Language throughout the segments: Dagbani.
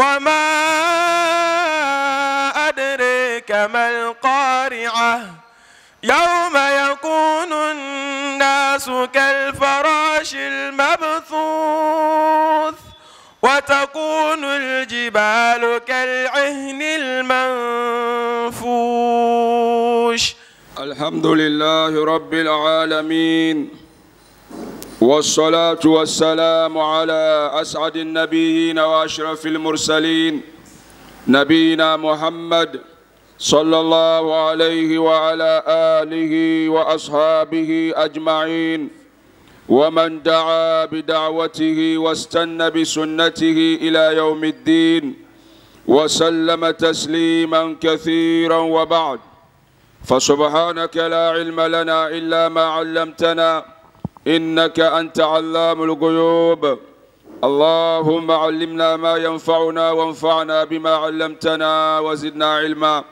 وما أدريك ما القارعة يوم يكون الناس كالفراش المبثوث وتكون الجبال كالعهن المنفوش. الحمد لله رب العالمين، والصلاة والسلام على أسعد النبيين وأشرف المرسلين، نبينا محمد صلى الله عليه وعلى آله وأصحابه أجمعين، ومن دعا بدعوته واستنى بسنته إلى يوم الدين وسلم تسليما كثيرا، وبعد. فسبحانك لا علم لنا إلا ما علمتنا إنك أنت علام الغيوب. اللهم علمنا ما ينفعنا وانفعنا بما علمتنا وزدنا علما.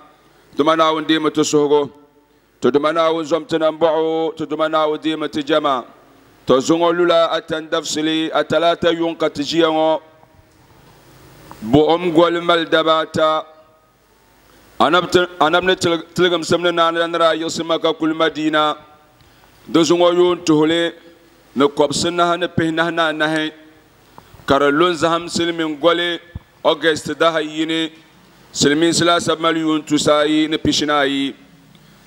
دمنا ونديم تسهغو تدمنا ونزمتنا نبعو تدمنا وديم تجمع تزونغو لولا أتندفسلي أتلاتا يونك تجيانو بؤم قول مالدباتا أنا من تلقم سمنا نانا يسمك كل مدينة دزونغو يون تهولي نكوب سنها نبهنها نهي كارلون زهم سلمين قولي أغست ده يني سلمين سلاسة مليون تساي نبشناي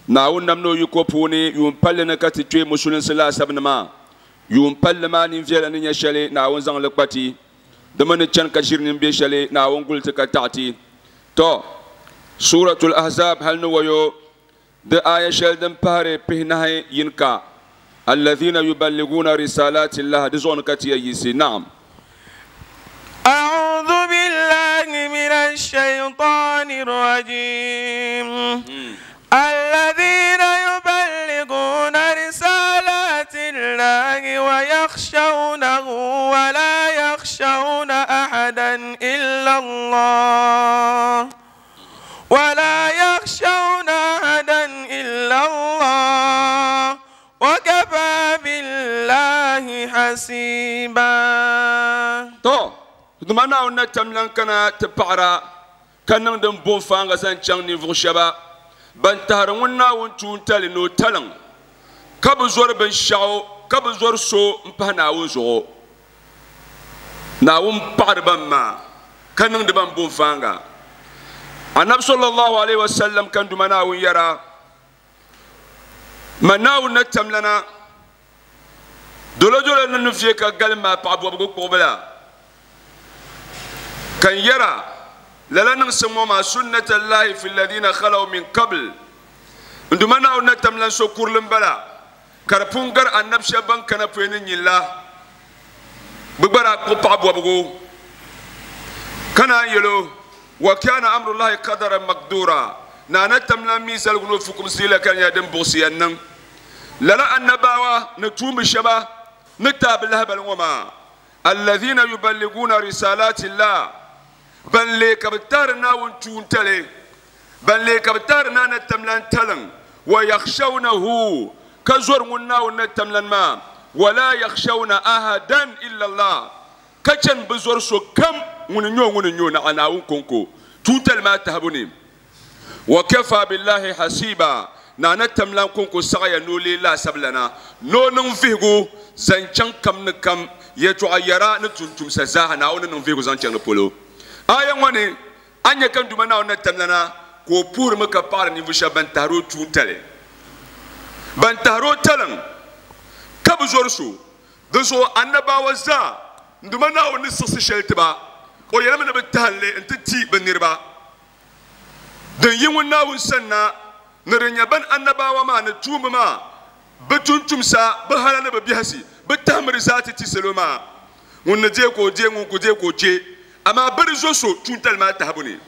ناون نمنو يكوبوني يون بالنا كتجي مسلم سلاسة بنما يون بالما نفعل نيشالي ناون زان لقبتي دمن تشان كشير نبيشالي ناون قلت كتعتي تو سورة الأحزاب هل نويو د آية شلدن بهري بهنهي ينكا الذين يبلغون رسالات الله دزون كتيا يسي. نعم. أعوذ بالله من الشيطان الرجيم. الذين يبلغون رسالات الله ويخشونه ولا يخشون أحدا إلا الله ولا يخشون أحدا إلا الله وكفى بالله حسيبا. تو دمنا ونتملن كنا تبعرا كنا ندم بوفان غسان تشان نيفو شبا بنتهر ونا ونتون تالي نو تلن كبزور بن شاو كبزور سو مبهنا ونزو ناوم بعر بما كنا ندم بوفان. النبي صلى الله عليه وسلم كان دمنا ونيرا مناو نتملنا دولة دولة ننفيك قال ما بعبو بقبلا كان يرى لا نسمو ما سنة الله في الذين خلوا من قبل عندما نتملن سكور لمبلا كربونغر النبي شبان كان فينين الله ببرا بعبو بقو كان يلو وكان أمر الله قدرا مقدورا نانا تملن ميزال غنوفكم سيلا كان يدم بوسيانن للا النباوة نتوم الشبا نتاب لها وما الذين يبلغون رسالات الله بل لك بتارنا ونتون تلي بل لك بتارنا نتملن تلن ويخشونه كزور منا ونتملن ما ولا يخشون أحدا إلا الله كجن بزور سو كم ونيو نعنا ونكونكو توتل ما تهبني وكفى بالله حسيبا نانا تملان كونكو سغيا نولي لا سبلنا نو ننفيغو زنچان كم نكم يتعيرا نتنتم سزاها ناو ننفيغو زنچان نبولو آية واني أنيا كم دومنا ونتملنا كو بور مكا بار نيفوشا بنتارو تونتالي بنتارو تلن كبزورسو دسو أنبا وزا دومنا ونسس شلتبا ويلمنا بالتهلي انت تي بنيربا دن يمنا ونسنا نرنيا بن أنبا وما نتوم ما بتونتم سا بهالا ببيهسي بتامر ذاتي تسلوما ونجيكو جي ونجيكو جي أما برزوسو تونتال ما تهبني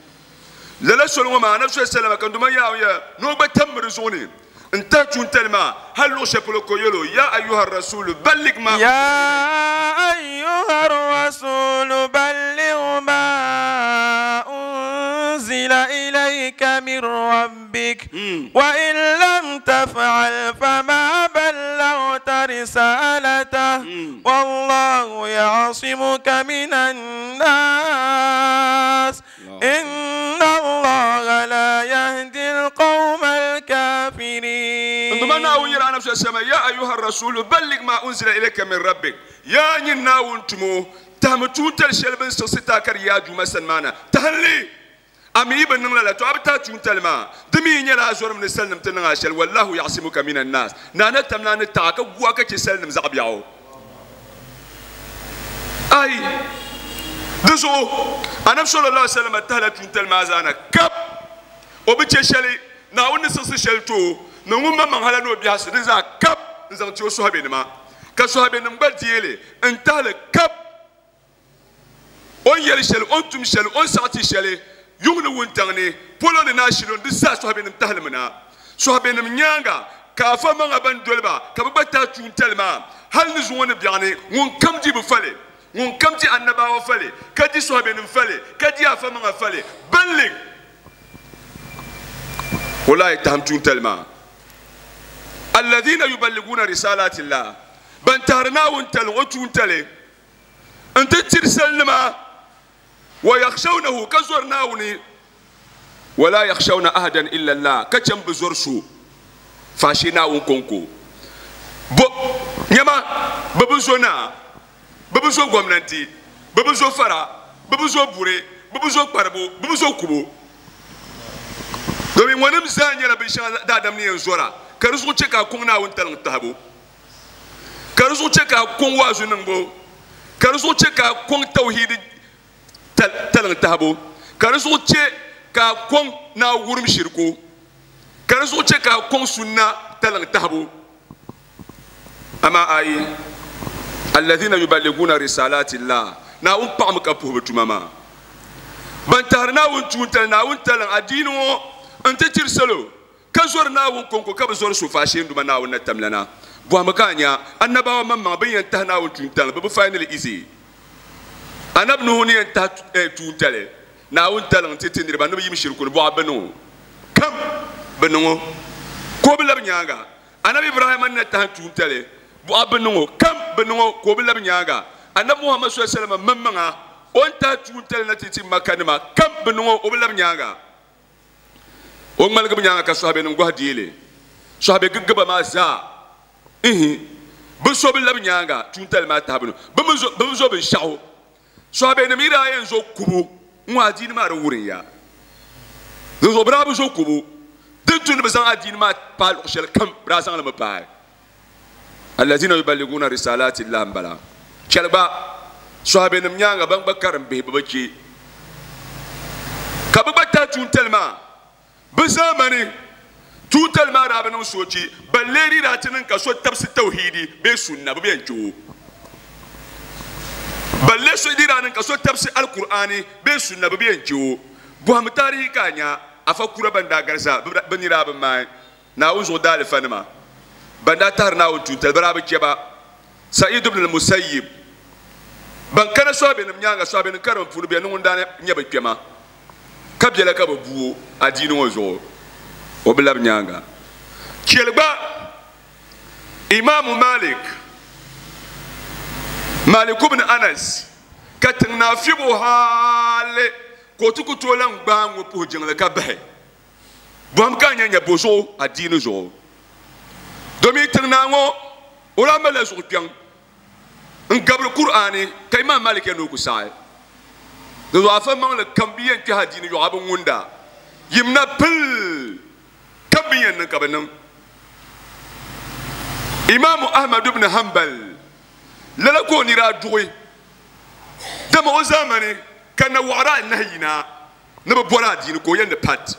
لا سلوما ما نفس السلام كان دوما يا نو بتامر زوني انت تونتال ما هل لو شبلو يلو يا أيها الرسول بلغ ما يا أيها الرسول بلغ ما أنزل إليك من ربك وإن لم تفعل فما بلغت رسالته والله يعصمك من الناس Nduma Naawuni yɛli Anabi sallallahu alaihi wasallam, Ya ayuha rasulu balligh ma unzila ilayka min rabbik. Yaa nyini Naawuni tumo, tahimi tuuntali shɛli bɛ ni siɣisi ti a ka di yi a Duuma sani maa na, tahim li. A mi yi bi niŋ lala, to a bi tahi tuuntali maa. Di mi yi nyɛla a zɔrimi ni salinim ti niŋ a shɛli, wallahu ya'simuka minan nas. Naa na tamla a ni taɣ a ka gu a ka chɛ salinim zaɣ biɛɣu. Ai! Di zuɣu Anabi sallallahu alaihi wasallam tahila tuuntali maa zaa na kap. O bi chɛ shɛli, Naawuni ni siɣisi shɛli ti o, ni ŋun maŋmaŋ hala ni o biɛhisi di zaa kap n-zaŋ ti o sɔhibenima, ka sɔhibenim gba deei li n-tahi li kap. O ni yɛli shɛli, o ni tum shɛli, o ni saɣi ti shɛli yuŋ ni wuntaŋ ni, polo ni ni ashilɔni, di zaa sɔhibenim tahi li mi na. Sɔhibenim nyaaŋa ka afa maŋa ban doli ba ka bɛ gba tahi tuuntali maa hal ni zuŋɔ ni biɛɣuni, ŋunkam di bi fa li. Ŋun kam di annabawa fali, ka di sɔhibenim fali, ka di afa maŋa fali, ballig o lahi tahim tuuntali maa. Alladhina yuballiguna risalati llah, ban tahiri Naawuni tali o tuuntali n-ti tiri salinima, wa yakhshawnahu, ka zɔri Naawuni, wa la yakhshawna ahadan illa Allah, ka chɛ m-bi zɔri so faashee Naawuni kɔŋko. Bo, nyama, bɛ bi zo naa. Bɛ bi zo gomnanti, bɛ bi zo fara, bɛ bi zo buri, bɛ bi zo kparibu, bɛ bi zo kubu. Domin ŋɔnim zaa nyɛla binshɛŋa daadam ni yɛn zɔra, ka di zuɣu chɛ ka a kɔŋ Naawuni taliŋ tahibu, ka di zuɣu chɛ ka a kɔŋ waazu niŋbu, ka di zuɣu chɛ ka a kɔŋ tawhiidi taliŋ tahibu, ka di zuɣu chɛ ka a kɔŋ Naawuni wurim shiriku, ka di zuɣu chɛ ka a kɔŋ sunna taliŋ tahibu. Amaa ayi, alladhina yuballiguna risalati llah, Naawuni paɣimi ka puhi bɛ tuma maa. Ban tahiri Naawuni tuuntali, Naawuni taliŋ adiini ŋɔ n-ti tiri salo, ka zɔri Naawuni kɔŋko ka bi zɔri so faashee n-duma Naawuni na tamlana. Bɔhimi ka a nya, annabawa maŋmaŋa bɛ ni yɛn tahi Naawuni tuuntali, bɛ bi faai izi. Anabi Nuhu ni yɛn tahi tuuntali, Naawuni taliŋ n-ti ti niriba ni bɛ yim shiriku ni bɔɣa bɛ niŋ o kam, bɛ niŋ o ka o bi labi nyaaŋa. Anabi Ibrahima ni na tahi tuuntali buɣa bi niŋ o kam bi niŋ o ka o bi labi nyaaŋa. Anabi Muhammad sallallahu alaihi wasallam maŋmaŋa o ni tahi tuuntali na ti ti Makka nima kam bi niŋ o o bi labi nyaaŋa. O ŋmaligi bi nyaaŋa ka sɔhibenim gɔhi deei li. Sɔhibe gigiba maa zaa ihi bi so bi labi nyaaŋa tuuntali maa tahibu ni. Bɛ mi zo binshɛɣu. Sɔhibenim yi daa yɛn zo kubu n-ŋɔ adiini maa di wurim ya. Dinzuɣu bɛ daa bi zo kubu. Din tu ni bɛ zaŋ adiini maa paai luɣ shɛli kam, bɛ daa zaŋ li mi paai. Allazina yuballiguna risalati llah m-bala. Chɛli gba, sɔhibenim nyaaŋa ban gba karim bihi bɛ bi chɛ ka bɛ gba tahi tuuntali maa. Bɛ zaamani, tuuntali maa daa bi niŋ soochi, balle di daa ti niŋ ka so tabisi tawhiidi bee sunna, bɛ bi yɛn chɛ o. Balle so di daa niŋ ka so tabisi Alkur'aani bee sunna, bɛ bi yɛn chɛ o. Bɔhimi taarihi ka a nya afa kura ban daa gari zaa, bɛ ni daa bi maai Naawuni zuɣu daalifanima, ban daa tahiri Naawuni tuuntali, bɛ daa bi chɛ ba. Sa'id ibn al-Musayyib, ban kana sɔhibenim nyaaŋa, sɔhibenim karim puuni bɛ ni ŋun daa nyɛ bɛ kpɛma. Ka biɛla ka bɛ bu o adiini ŋɔ zuɣu, o bi labi nyaaŋa. Chɛli gba Imaamu Malik, Malik ibn Anas, ka tiŋ naa fiɛbi o hali ka o ti ku tooi lan gbaai ŋɔ puhi jiŋli ka bahi. Bɔhim ka a nya nya bo zuɣu adiini zuɣu. Domin tiŋ naa ŋɔ o daa malila zuɣu kpiɔŋ n gabiri Kur'aani ka Imam Malik yɛli ni o ku saɣi. Di zuɣu afa maŋli kam bi yɛn kpɛhi adiini yɔɣu a bi ŋunda yimna pil kam bi yɛn niŋ ka bi niŋ. Imaamu Ahmad ibn Hanbal lala ka o ni daa duɣi dama o zaamani ka nawaɣira anahi yina ni bi bɔri adiini ka o yɛli ni pat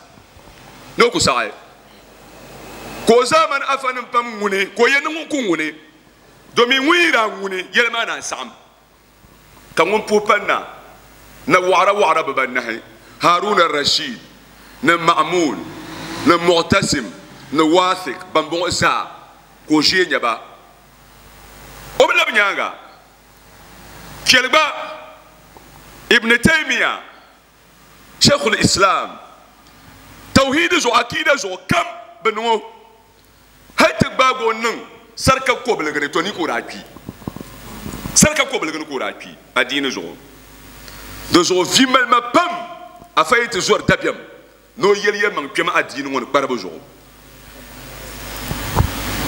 ni o ku saɣi ka o zaamani afanim pam ŋuni ka o yɛli ni ŋun ku ŋuni Domin ŋun yi daa ŋuni yɛli maa naan saɣim, ka ŋun puhi pa na, na waɣira waɣira bibanahi, Harun al-Rashid, ni Ma'mun, ni Mu'tasim, ni Wathiq, bambɔŋɔ zaa ka o ʒee nya ba. O bi labi nyaaŋa. Chɛli gba Ibn Taymiyyah, Sheikhul Islam, Tawhid zuɣu, Akida zuɣu kam bi niŋ o. Hali ti gbaagi o niŋ sarika kobiligi ni, to ni ka o daa kpi. Sarika kobiligi ni ka o daa kpi adiini zuɣu. Di zuɣu vi mali ma pam, afa yi ti zɔri dabiɛm ni o yɛli yɛlimaŋ kpɛma adiini ŋɔ ni kparibu zuɣu.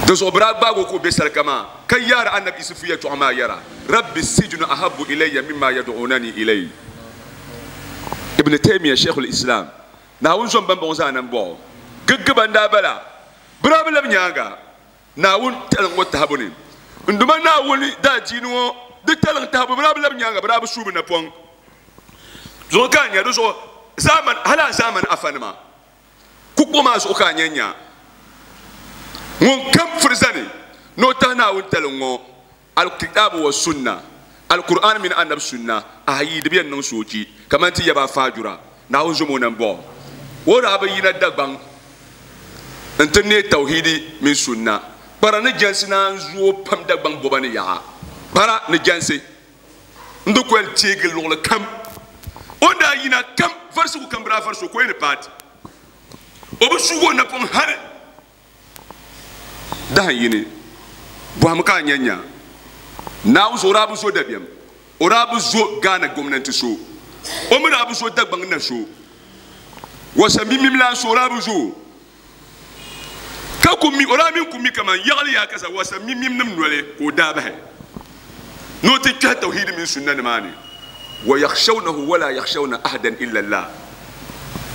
Di zuɣu bɛ daa gbaagi o ka o be sarika maa, ka yaari Anabi Isufu yɛtɔɣa maa yɛra, Rabbi sijnu ahabbu ilayya mimma yad'unani ilayhi. Ibn Taymiyyah, Sheikhul Islam, Naawuni zom bambɔŋɔ zaa nambɔɣu giggiba n-daa bala. Bɛ daa bi labi nyaaŋa Naawuni taliŋ ŋɔ tahibu ni. N Duuma Naawuni daadiini ŋɔ di taliŋ tahibu, bɛ daa bi labi nyaaŋa, bɛ daa bi suui bɛ napɔŋ zuɣu ka a nya di zuɣu zaamani, hali a zaamani afanima. Kukpuɣu maa zuɣu ka a nya nya ŋun kam firi zani ni o tahi Naawuni taliŋ ŋɔ, Al-Kitaabu wa Sunna, Al-Qur'an mini Anabi Sunna, ayi di bi yɛn niŋ soochi kamani ti yaba Faajura, Naawuni zom o nambɔɣu. O daa bi yina Dagbaŋ n-ti neei Tawhiidi mini Sunna. Kpara ni jɛnsi naan zooi pam Dagbaŋ bɔba ni yaɣa. Kpara ni jɛnsi n-di ku yɛn teegi luɣili kam. O ni daa yina kam, varisigu kam bi daa varisi o ka o yi ni paati. O bi suugi o napɔŋ hali dahin yini. Bɔhimi ka a nya nya Naawuni so, o daa bi zo dabiɛm, o daa bi zo Ghana gomnanti so, o mi daa bi zo Dagbaŋ na so, Wasa mimim lan so o daa bi zo o. Ka ku mi, o daa mi n-ku mi kaman yaɣili yaa ka sa wasa mimim nim noli ka o daa bahi ni o ti kpɛhi tawhiidi mini sunna nimaani. Wa yakhshawnahu wa laa yakhshawna ahadan illa Allah.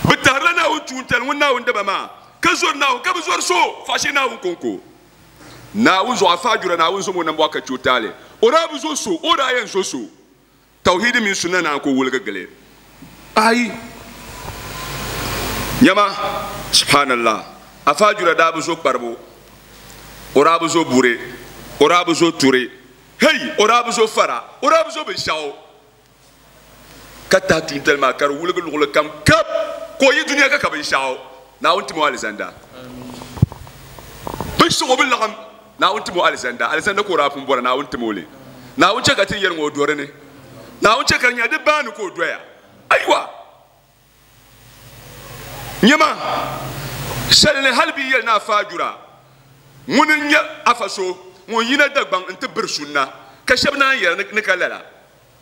Bɛ tahirila Naawuni tuuntali ŋun Naawuni daba maa, ka zori Naawuni ka bi zori so faashee Naawuni kɔŋko. Naawuni zuɣu afaajura Naawuni zom o nambɔɣu ka che o taali. O daa bi zo so, o daa yɛn zo so. Tawhiidi mini sunna naan ku wuligi gili. Ayi! Nyama, subhanallah, afaajura daa bi zo kparibu, o daa bi zo buri, o daa bi zo turi, hey, o daa bi zo fara, o daa bi zo binshɛɣu, ka tahi tuuntali maa ka di wuligi luɣili kam kap, ka o yi dunia ka ka binshɛɣu. Naawuni tim o alizanda. Binshɛɣu bi laɣim. Naawuni tim o alizanda, alizanda ka o daa pun bɔra, Naawuni tim o li. Naawuni chɛ ka ti yɛli ŋɔ o dɔri ni. Naawuni chɛ ka di nyɛla di baani ka o doya. Ayiwa! Nyama, shɛli ni hali bɛ yi yɛli ni afa Ajura ŋuni n-nyɛ afa so ŋun yina Dagbaŋ nti biri sunna, ka shɛba naan yɛli ni ka lala,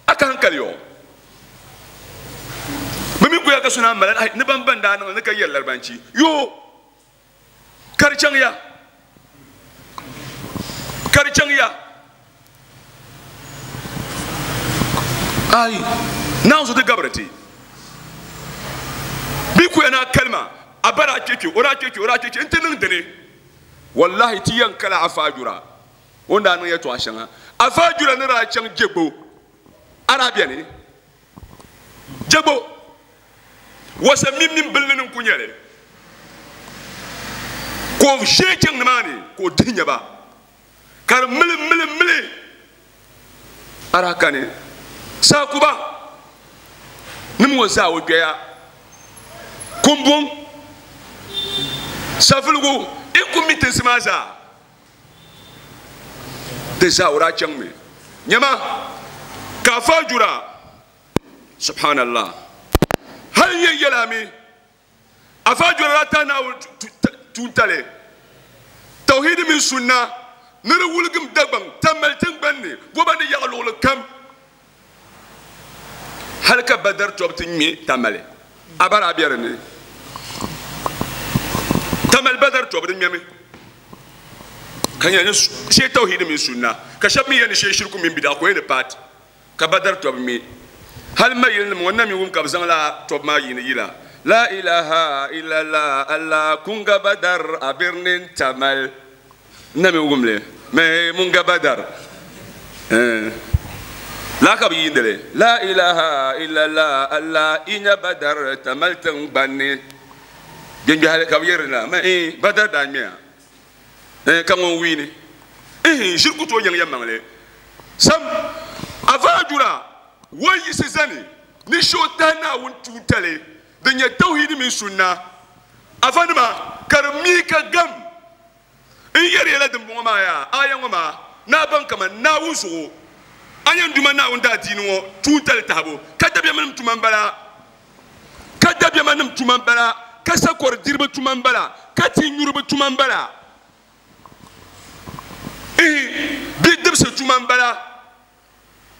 a ka hankali yɔ. Bɛ mi kuya ka so naan mali ni ban ban daa niŋ li ni ka yɛri Laribanchi yoo. Ka di chaŋ ya, ka di chaŋ ya. Ai, Naawuni so ti gabiri ti. Bɛ kuya ni a kalima, a ba daa kpe kpe, o daa kpe kpe, o daa kpe kpe nti niŋ dini. Wallahi ti yɛn kala Afa Ajura o ni daa niŋ yɛtɔɣa shɛŋa. Afa Ajura ni daa chaŋ Jegbo, a daa beni? Jegbo. Wasa mimim bilini ni n-ku nyɛ li, ka o ʒee chaŋ nimaani ka o dihi nya ba, ka di mili mili mili a daa kani saakuba nim ŋɔ zaa o gbɛya kumbuŋ savuligu in ku mi tinsi maa zaa di zaa o daa chaŋmi nyama ka afa jura Subhanallah. Hali n yɛn yɛli a mi, afa jɔrila ta Naawuni tuuntali, tawhidi mini sunna ni di wuligim Dagbaŋ Tamali tiŋgbani ni goba ni yaɣa luɣili kam. Hali ka Badar tɔbu ti ŋme Tamali, a ba daa be di ni. Tamali Badar tɔbu di ŋmɛmi ka nyɛ ni shee tawhidi mini sunna, ka shɛba mi yɛli ni shee shiriku mini bidaa ka o yɛn ni paati. Ka Badar tɔbu mi. Hali mayili nim ŋɔ na mi wum ka bɛ zaŋ lala tɔbu maa yiini yila, La ilaha illallah Allah kun ga Badar a birnin Tamal. N na mi wum li mi mun ga Badar. Eh. Laa ka bɛ yiindi li, La ilaha illallah Allah i nya Badar Tamal tiŋgbani ni. Gbɛngbɛhili ka bɛ yɛri la, ma eh, Badar daa ŋmɛya. Eh, ka ŋun wiini ihin ʒiri ku tooi nyaŋ yɛlimaŋli sam. Avaajura o yiɣisi zani ni shee o tahi Naawuni tuuntali din nyɛ tawhiidi mini sunna afanima ka di mi ka gam n yɛri ya la dimbɔŋɔ maa yaa aaya ŋɔ maa ni a baŋ kaman Naawuni zuɣu a yɛn duma Naawuni daadiini ŋɔ tuuntali tahibu ka dabiɛmnim tuma m-bala. Ka dabiɛmanim tuma m-bala, ka sakɔri diriba tuma m-bala, ka ti nyuriba tuma m-bala, ihi, bidibisi tuma m-bala.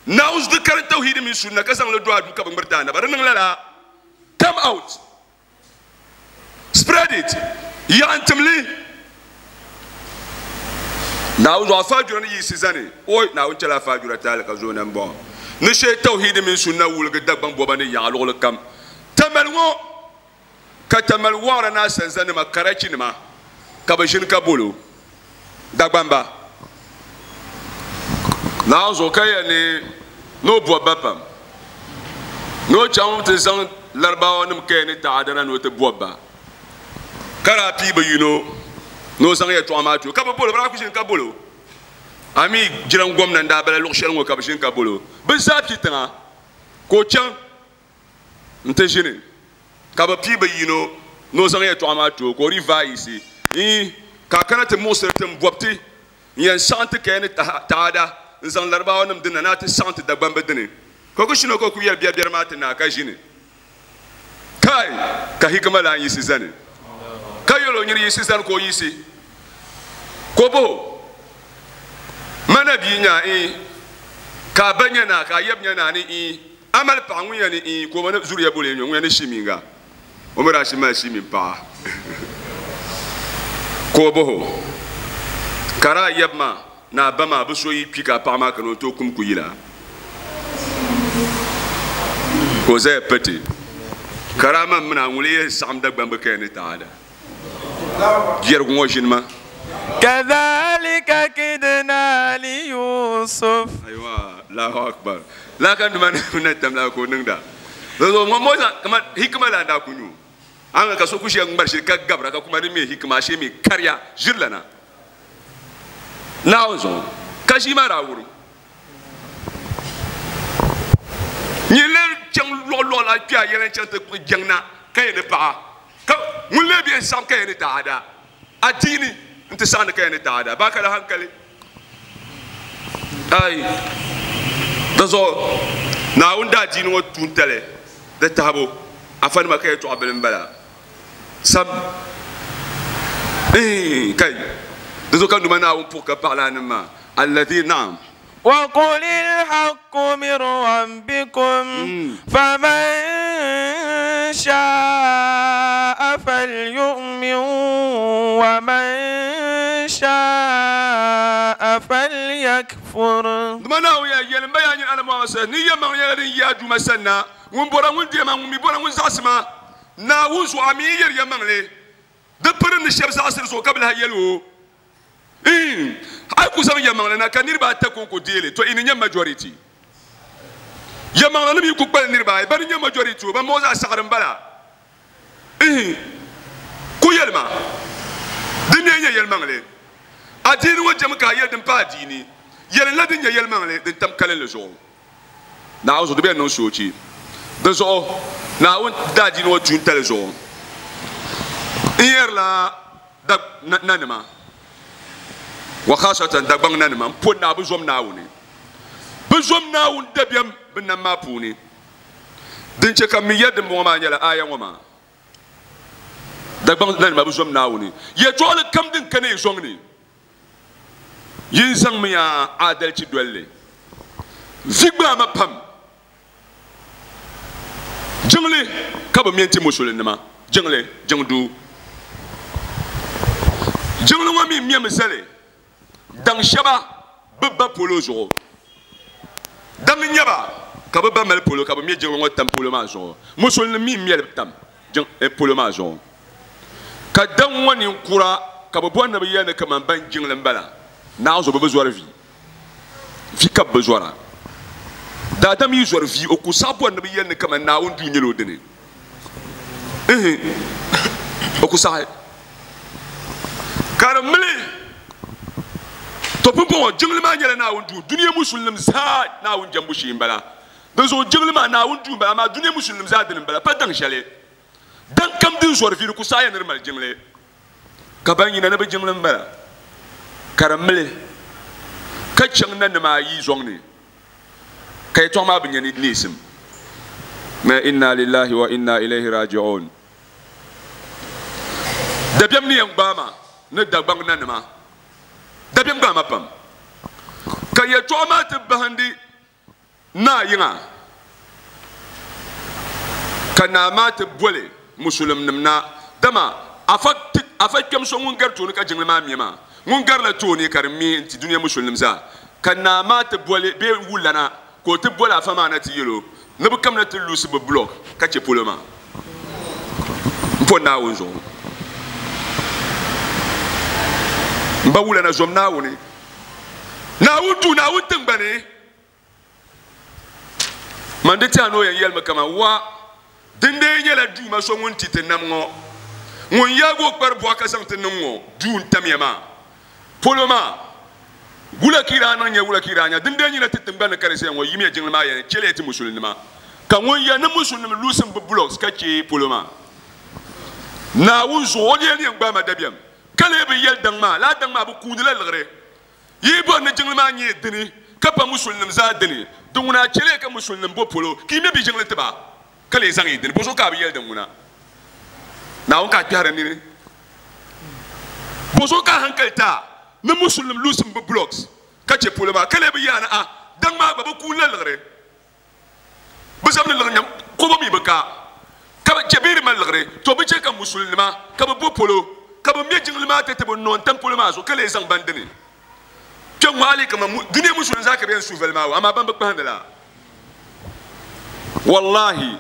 Naawuni di karim tawhiidi mini sunna ka zaŋ li do aduu ka bi ŋmiriti anaba. Di niŋ lala. Come out. Spread it. Yaɣa n-tim li. Naawuni zuɣu afa jura ni yiɣisi zani, oi Naawuni chɛla afa jura taali ka zooi na m-bɔŋɔ ni shee tawhiidi mini sunna wuligi Dagbaŋ bɔba ni yaɣa luɣili kam. Tamali ŋɔ ka Tamali waɣira ni asanzanima, karachinima, ka bɛ ʒini ka bol o Dagbamba. Naawuni zuɣu ka yɛli ni ni o bɔbi ba pam, ni o chaŋ ti zaŋ Laribawanim kaya ni taɣada na ni o ti bɔbi ba. Ka daa pii bi yino ni o zaŋ yɛltɔɣa maa ti o, ka bɛ bol o, bɛ daa kuli ʒini ka bol o. A mi jiran gomna n-daa bala luɣ shɛli ŋɔ ka bɛ ʒini ka bol o. Bɛ zaa kpi tiŋa ka o chaŋ nti ʒini, ka bɛ pii bi yino ni o zaŋ yɛltɔɣa maa ti o, ka o dii vaai yiɣisi, Iin, ka a kana ti muɣisiri ti m-bɔbi ti n-yɛn saɣim ti kaya ni taada n-zaŋ Laribaawanim dini na ni a ti saɣim ti Dagbamba dini. Ka o ku shini o ka o ku yɛli biɛribiɛri maa ti naai ka ʒini. Kai! Ka hikima lan yiɣisi zani, ka yɛl o, Nyini yiɣisi zani, ka o yiɣisi, ka o bɔh o, Ma na bia nya a iin, ka a ba nya naa, ka a yab nya naa ni iin, a mali paɣa ŋun ya ni iin, ka o ma ni zuliya boli ya nyo ŋun ya ni shimiinga, o mi daa shi mali shimiin paɣa. Ka o bɔh o, Ka di a yab maa ni a ba maa bi so yi kpi ka a paɣa maa kana o tooi kum ku yila? Ka o zaya pati, Ka daa man mini a ŋun lee yɛn saɣim Dagbamb kaya ni taada biɛrigu ŋɔ ʒini ma. Kadhalika kidna li Yusuf. Aiwa, Allahu Akbar. Lala ka nima na tam lala ka o niŋda. Dinzuɣu ŋɔ mo zaŋ kaman hikima la n-daa ku nyu. A ni ka so ku ʒiya ŋmari shili ka gabira ka kuma di mi hikima ashee mi kariya ʒirilana. Naawuni zuɣu ka ʒii maa daa wurim. Nyin lee chaŋ luɣuluɣu la kpe a yɛla n-chaŋ ti kpuɣi jɛŋ na ka yɛn ni paɣa, ka ŋun lee be n-saɣim ka yɛn ni taada adiini nti saɣindi ka yɛn ni taada baa ka di hankali. Ai, di zuɣu Naawuni daadiini ŋɔ tuuntali di tahibu afanima ka yɛtɔɣa bili m-bala. Sam. Iin, kai, di zuɣu ka Duuma Naawuni puhi ka paɣi lala nim maa, Alladhi, na'am. Wa qulil haqqu min rabbikum, faman sha'a falyu'min wa man sha'a falyakfur. Duuma Naawuni ya yɛli, M ba yaa nyini Annabi Muhammad sallallahu alaihi wasallam, ni yɛlimaŋli nyɛla din yi a Duuma sani na, ŋun bɔra ŋun deei ma, ŋun mi bɔra ŋun zaɣisi ma. Naawuni zuɣu a mi yi yɛri yɛlimaŋli, di piri ni shɛba zaɣisiri zuɣu ka bɛ lahi yɛli o, Iin, a yi ku zaŋ yɛlimaŋli na ka niriba ata kɔŋko deei li, tɔ yi ni nyɛ majority. Yɛlimaŋlinim yi ku kpalim niriba ayi, bɛ ni nyɛ majority o, ban bɔŋɔ zaa saɣiri m-bala. Iin, ku yɛli ma, di mi nyɛ yɛlimaŋli. Adiini ŋɔ jɛmi ka a yɛli din pa adiini. Yɛlinla din nyɛ yɛlimaŋli din tam kalinli zuɣu. Naawuni zuɣu di bɛ niŋ soochi. Di zuɣu Naawuni daadiini ŋɔ tuuntali zuɣu n yɛrila nanima wa khasatan Dagbaŋ nanima m po naa bi zom Naawuni. Bi zom Naawuni dabiɛm bi nam maa puuni. Din che ka m mi yɛri dimbɔŋɔ maa nyɛla aaya ŋɔ maa. Dagbaŋ nanima bi zom Naawuni. Yɛtɔɣili kam din kana yi zɔŋ ni Yin zaŋmiya aadalichi doli li. Vi gbaai ma pam. Jiŋli ka bɛ me n-ti Musulinima. Jiŋli, jiŋduu. Jiŋli ŋɔ mi mɛmi zali daŋ shɛba bɛ ba polo zuɣu. Daŋ n-nyɛ ba ka bɛ ba mali polo ka bɛ me jiŋli ŋɔ tam polo maa zuɣu. Musulinima mi m-me li tam polo maa zuɣu. Ka daŋ ŋɔ ninkura ka bɛ bɔri ni bɛ yɛli ni kaman ban jiŋli m-bala, Naawuni zuɣu bɛ bi zɔri vi. Vi ka bɛ bi zɔra. Daadam yi zɔri vi, o ku saɣi bɔri ni bɛ yɛli ni kaman Naawuni duu nyɛla o dini. Ihi, o ku saɣi. Ka di mili, to pumpɔŋɔ jiŋli maa nyɛla Naawuni duu, dunia musulinim zaa Naawuni jɛmbu shee m-bala. Dinzuɣu jiŋli maa Naawuni duu m-bala, amaa dunia musulinim zaa dini m-bala, pa daŋ shɛli. Daŋ kam din zɔri vi di ku saɣiya ni di mali jiŋli, ka ban yina ni bɛ jiŋli m-bala, ka di mili ka chaŋ nanima ayi zɔŋ ni, ka yɛtɔɣa maa bi nya ni neesim. Ma inna lillahi wa inna ilayhi raji'un. Dabiɛm ni yɛn gbaai ma ni Dagbaŋ nanima, dabiɛm gbaai ma pam, ka yɛtɔɣa maa ti bahindi Naa yiŋa, ka naa maa ti boli Musulimnim na, dama afa kpɛm so ŋun gari tooni ka jiŋli maa me maa, Ŋun garila tooni ka di mi n-ti dunia musulinim zaa. Ka naa maa ti boli bee wulana ka o ti boli afa maa na ti yɛl o ni bɛ kamina ti luusi bɛ block ka chɛ polo maa m-po Naawuni zuɣu. M ba wulana zom Naawuni. Naawuni duu, Naawuni tiŋgbani. Man di tɛha ni o yɛn yɛlimi kaman wa, Dindee nyɛla Duuma so ŋun ti ti nam ŋɔ, ŋun yaag o kpari buɣa ka zaŋ ti niŋ ŋɔ duu n-tamya maa polo maa. Wula ka yi daa niŋ nya? Wula ka yi daa nya? Dindee nyɛla ti tiŋgbani ni ka di ʒiya ŋɔ, yimiya jiŋli maa yɛn chɛliya ti musulinima, ka ŋun ya ni musulinima lusim bɛ blocks ka chɛ polo maa. Naawuni zuɣu o lee ni yɛn gbaai ma dabiɛm, ka lee bi yɛli daŋ maa, lala daŋ maa bi kuundila liɣiri. Yi bɔri ni jiŋli maa nyɛ dini ka pa musulinim zaa dini? Din ŋuna a chɛliya ka musulinim bo polo ka yi me bɛ jiŋli ti ba ka lee zaŋ yi dini? Bɔzuɣu ka a bi yɛli din ŋuna? Naawuni ka a kpɛhiri nini? Bɔzuɣu ka a hankali ti a ni musulinim lusim bɛ blocks ka chɛ polo maa ka lee bi yaani a daŋ maa gba bɛ kuuni la liɣiri? Bɛ zabiri liɣiri nyam kɔbɔ mi bi ka, ka bɛ chɛ bɛ di mali liɣiri. To bɛ chɛ ka musulinima ka bɛ bo polo, ka bɛ me jiŋli maa ti ti bɛ noo n-tam polo maa zuɣu, ka lee zaŋ ban dini. Kpe ŋɔ hali kaman dunia musulim zaa ka bɛ yɛn su vali maa o, amaa ban bi kpahindi la. Wallahi,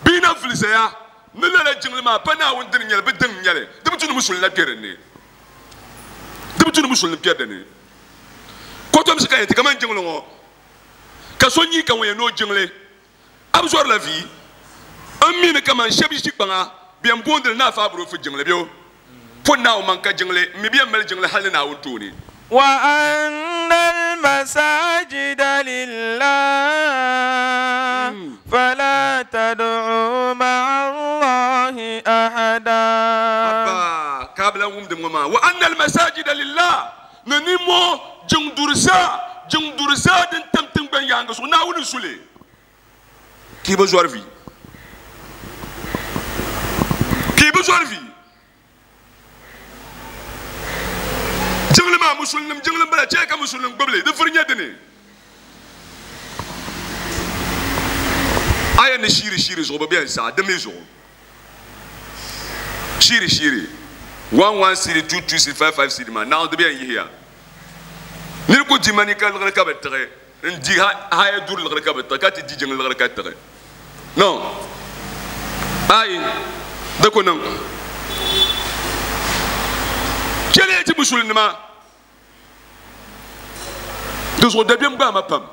bɛ yi na vuli zaya ni lala jiŋli maa pa Naawuni dini n-nyɛli, bɛ diŋ n-nyɛli, di bi tu ni musulim la kpe din ni. Di bi tu ni musulim kpe din ni. Kɔtomsi ka yɛn ti kaman jiŋli ŋɔ. Ka so nyi ka ŋun yɛn ni o jiŋli, a bi zɔrila vi? N mi ni kaman shɛb yi ʒi kpaŋa, bɛ yɛn boondili ni Afa Aburofu jiŋli bɛ o po Naawuni man ka jiŋli, m mi bɛ yɛn mali jiŋli hal ni Naawuni tooni. Wa anna al-masajida lillah fala tad'u ma'a Allahi ahada. Abba, ka a bi lan wumdi ŋɔ maa. Wa anna al-masajida lillah. Ni nimmoo jiŋ duri zaa, jiŋ duri zaa din tam tiŋgbani yaaŋa zuɣu, Naawuni n-su li. Ka yi bi zɔri vi. Ka yi bi zɔri vi. Jiŋli maa, Musulinim jiŋli m-bala, chɛ ka Musulinim gbubi li, di vuri nyɛ dini. A yɛn ni shiiri shiiri zuɣu bi bɛn saɣi, di mi zuɣu. Shiiri shiiri, 1 1 cedi, 2 2 cedi, 5 5 cedi maa naɣ di bɛn yihiya. Nir ku di manika liɣiri ka bi tiɣi, n-di haya duri liɣiri ka bi tiɣi, ka ti di jiŋ liɣiri ka tiɣi. No. Ayi, di ku niŋ. Chɛliya ti musulinima. Di zuɣu dabiɛm gbaai ma pam.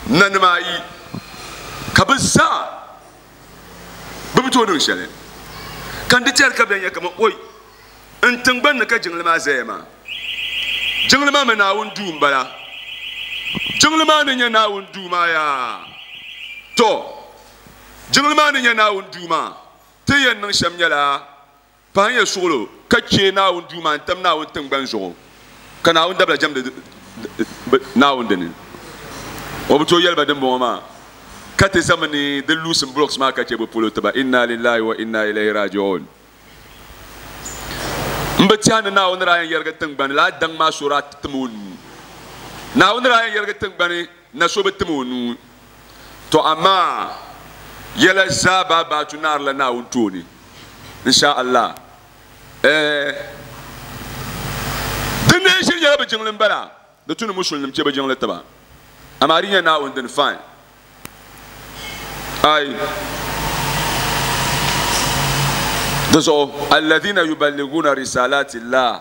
Nanima ayi ka bɛ zaa bɛ bi tooi niŋ shɛli. Ka n di tɛri ka bɛ nya kaman, Oi, n tiŋgbani ni ka jiŋli maa zaya maa. Jiŋli maa mi Naawuni duu m-bala. Jiŋli maa ni nyɛ Naawuni duu maa yaa? Tɔ! Jiŋli maa ni nyɛ Naawuni duu maa, ti ni yɛn niŋ shɛm nyɛla Pahinya suɣilo ka chɛ Naawuni duu maa n-tam Naawuni tiŋgbani zuɣu, ka Naawuni dabila jɛmdi Naawuni dini. O bi tooi yɛli ba dimbɔŋɔ maa, ka ti zami ni di luusim blocks maa ka chɛ bɛ polo tiba. Inna lillahi wa inna ilayhi raji'un. M bi tɛha ni Naawuni daa yɛn yɛrigi tiŋgbani lala daŋ maa so daa ti tim o nuu. Naawuni daa yɛn yɛrigi tiŋgbani na so bi tim o nuu. Tɔ amaa yɛla zaa baabaatu naarila Naawuni tooni. Insha Allah. Eh, din nee shiri nyɛla bɛ jiŋli m-bala, di tu ni musulinim che bɛ jiŋli tiba. Amaa di nyɛ Naawuni dini, fine. Ai. Di zuɣu, alladhina yuballiguna risalati Allah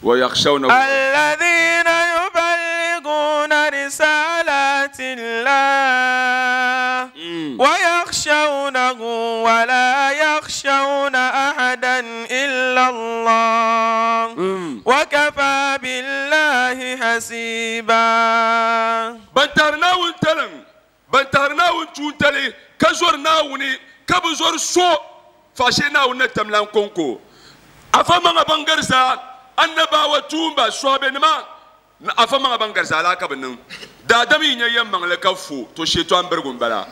wa yakhshawnahu. Alladhina yuballiguna risalati Allah wa yakhshawnahu wa la yakhshawna ahadan illa Allah wa kafa billahi hasiba. Ban tahiri Naawuni taliŋ, ban tahiri Naawuni tuuntali, ka zɔri Naawuni, ka bi zɔri so faashee Naawuni na tamlan kɔŋko. Afa maŋa ban gari zaa, annabawa, tuumba, sɔhibenima, ni afa maŋa ban gari zaa laa ka bɛ niŋ. Daadam yi nya yɛmmaŋli ka fo, to sheetɔan birigu m-bala.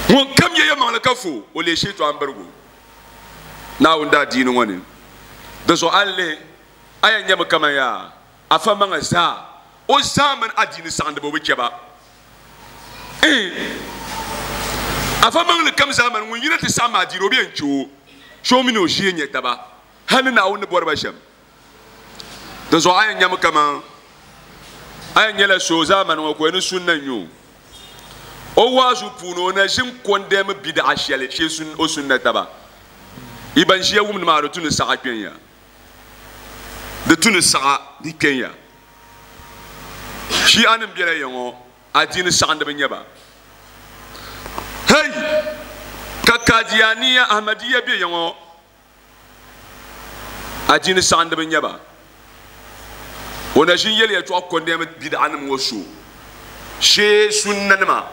Ŋun kam nya yɛmmaŋli ka fo, o leei sheetɔan birigu Naawuni daadiini ŋɔ ni. Di zuɣu a ni lihi, a yɛn nyami kaman yaa afa maŋa zaa, o zaa mini adiini saɣindiba o bi chɛ ba. Iin, afa maŋli kam zaa mani ŋun yina ti saɣim adiini o bi yɛn chɛ o, shee o mini o ʒee nyɛ taba. Hali Naawuni ni bɔri ba shɛm. Di zuɣu a yɛn nyami kaman a yɛn nyɛla so zaamani ŋɔ ka o ni sunna n-nyɛ o. O waazu puuni o na ʒi n-kɔndɛmi bidaɣa shɛli shee o sunna taba. Yi ban ʒiya wumdi maa di tu ni saɣa kpɛn ya. Di tu ni saɣa di kpɛn ya. Shi'anim bela ya ŋɔ, adiini saɣindiba n-nyɛ ba. Hey! Ka Qadianiya, Ahmadiyya be ya ŋɔ, Adiini saɣindiba n-nyɛ ba. O na ʒin yɛli yɛltɔɣa kɔndɛmi bid'anima ŋɔ so shee sunnanima.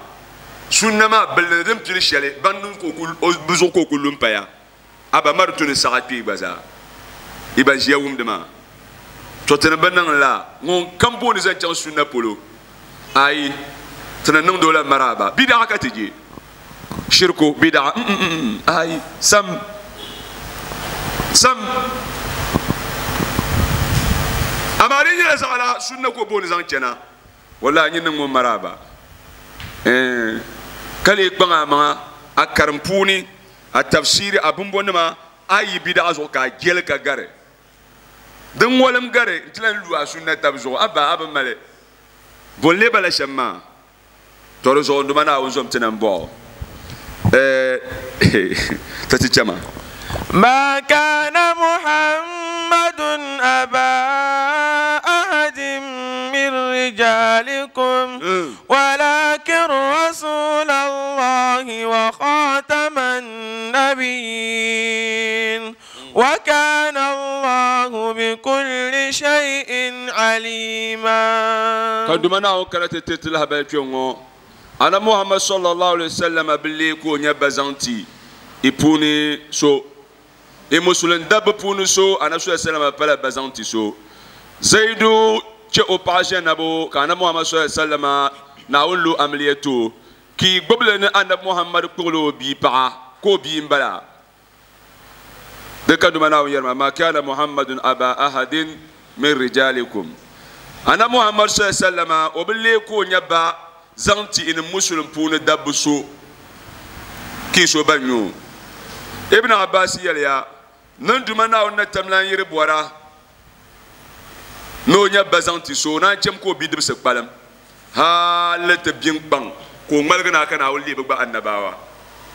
Sunna maa billi ni din pili shɛli ban niŋ ka o bɛ zuɣu ka o kuli lu m-paya. A ba ma di tu ni saɣa kpee gba zaa. Yi ban ʒiya wumdi maa, tɔ ti ni bi niŋ la ŋun kam booni zaŋ chaŋ sunna polo. Ayi, ti ni niŋdi o la maraaba. Bid'a ka ti je. Shirku, bid'a, mm ayi, sam, sam. Amaa di nyɛla zaɣila sunna ka o booni zaŋ chana, wallahi nyin niŋ ŋun maraaba. Eh, ka lee kpaŋ a maŋa a karim puuni, a tafsiri, a bimbɔnima, a yi bid'a zuɣu ka a jeli ka gari. Din ŋɔlim gari nti lan lu a sunna tab zuɣu, a ba a bi mali bo n-lee bala shɛm maa. Tɔ di zuɣu n Duuma Naawuni zom ti na m-bɔh o, Ti ti chɛ ma. Ma kana Muhammadun aba ahadin min rijalikum walakin rasulallahi wa khataman nabiyyin wa kana Allahu bi kulli shay'in alima. Ka Duuma Naawuni kana ti tiri ti lahabali kpe ŋɔ, Annabi Muhammad sallallahu alaihi wasallam bi leei ka o nyɛ ba zaŋ ti i puuni so. I Musulin dabba puuni so, Annabi sallallahu alaihi wasallam pala ba zaŋ ti so. Zaidu che o paɣa Zainabu ka Annabi Muhammad sallallahu alaihi wasallam Naawuni lo amiliya ti o, ka i gbubili ni Annabi Muhammad kpuɣila o bia paɣa ka o bia m-bala. Di ka Duuma Naawuni yɛri maa, Ma kana Muhammadun aba ahadin min rijalikum. Annabi Muhammad sallallahu alaihi wasallam o bi leei ka o nya ba zaŋ ti ini Musulim puuni dabba so ka i so ban nyɛ o. Ibn Abbas yɛliya, Ni Duuma Naawuni na tam lan yiri bɔra ni o nya ba zaŋ ti so, o naan chɛm ka o bidibisi kpalim hali ti bin kpaŋ ka o ŋmaligi na ka Naawuni leei bɛ gba annabawa.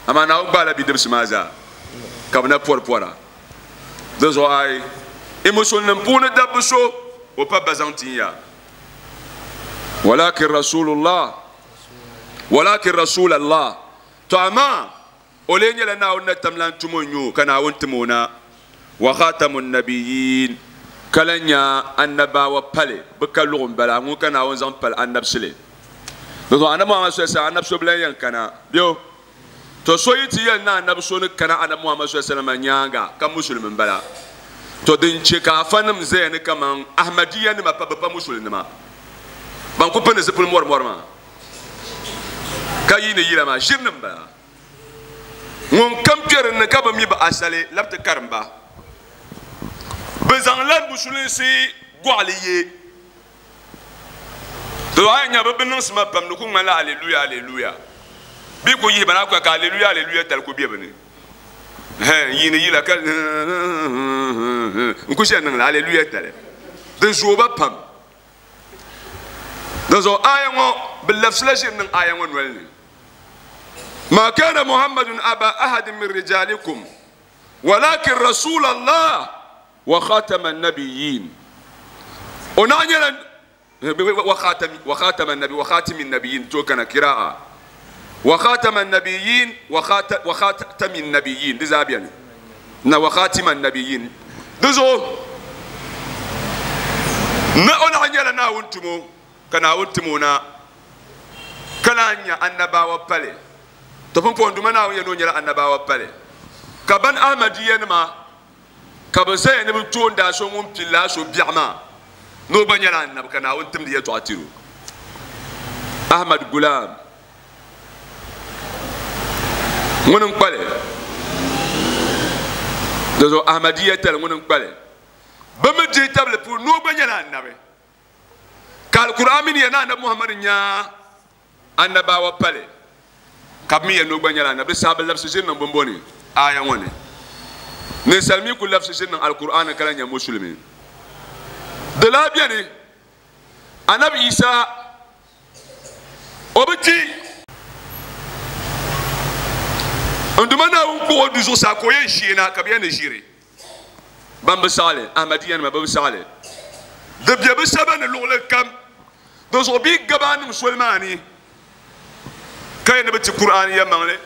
Amaa Naawuni gbaala bidibisi maa zaa ka bɛ na pɔri pɔra. Di zuɣu ayi, i Musulnim puuni dabba so o pa ba zaŋ tin ya. Walakin Rasulullah, walakin Rasulallah. To amaa o lee nyɛla Naawuni na tam lan tum o n-nyɛ o ka Naawuni tim o na. Wa khatamun nabiyyin, ka lan nya annabawa pali bɛ ka luɣu m-bala, ŋun ka Naawuni zaŋ pali annabisili. Di zuɣu Annabi Muhammad sallallahu alaihi wasallam annabi so bi lan yɛn kana bɛ To so yi ti yɛli ni annabi so ni kana Annabi Muhammad sallallahu alaihi wasallam nyaaŋa ka Musulimi m-bala. To din che ka afanim zaya ni kaman Ahmadiyya nima pa bɛ pa Musulinima ban ku pindi zipili mɔrimɔri maa ka yiini yila maa ʒirinim m-bala. Ŋun kam kpe din ni ka bi mi bi asali labi ti karim ba. Bɛ zaŋla Musulinsi gɔɣili ye. To a nya bɛ biniŋsima pam di ku ŋmanila aleluya aleluya. Bɛ yi ku yihi ba na ka aleluya aleluya tali ku be bɛ ni. Hɛn yiini yila ka n ku ʒe niŋla aleluya tali. Di zooi ba pam. Di zuɣu aya ŋɔ bɛ labisila ʒiri niŋ aya ŋɔ noli ni. Ma kana Muhammadun aba ahadin min rijalikum walakin rasulallah wa khatama nabiyyin. O naɣ nyɛla wa khatami wa khatama nabi wa khatimi nabiyyin to kana kira'a wa khatama nabiyyin wa khata wa khatami nabiyyin di zaa bɛni na wa khatima nabiyyin di zuɣu ni o naɣ nyɛla Naawuni tumo ka Naawuni tim o na ka lahi nya annabawa pali. To pumpɔŋ Duuma Naawuni yɛli ni o nyɛla annabawa pali ka ban Ahmadiyya nima ka bɛ zaya ni bɛ toondaa so ŋun pili laa so biɛɣu maa ni o gba nyɛla annabi ka Naawuni timdi yɛltɔɣa tiri o. Ahmad Gulam ŋuni n-kpali di zuɣu Ahmadiyya tali ŋuni n-kpali bɛ mi dihi tabili puuni ni o gba nyɛla annabi ka Al-Qur'an mini ya ni Annabi Muhammad nya annabawa pali ka bɛ mi ya ni o gba nyɛla annabi. Di saha bɛ labisi ʒiri niŋ bimbɔ ni aaya ŋɔ ni. Ninsal mi ku labisi ʒiri niŋ Alkur'aani ka lahi nyɛ Musulimi. Di lahi beni, Anabi Isa o bi kpi. N Duuma Naawuni kpuɣ o du zuɣusaa ka o yɛn sheena ka bɛ yɛn ni ʒiri. Ban bi saɣi li, Ahmadiyyanima, bɛ bi saɣi li. Di be bɛ saba ni luɣili kam. Di zuɣu bɛ yi gabi a niŋ soli maa ni ka yɛn ni bɛ ti Kur'aani yɛlimaŋli,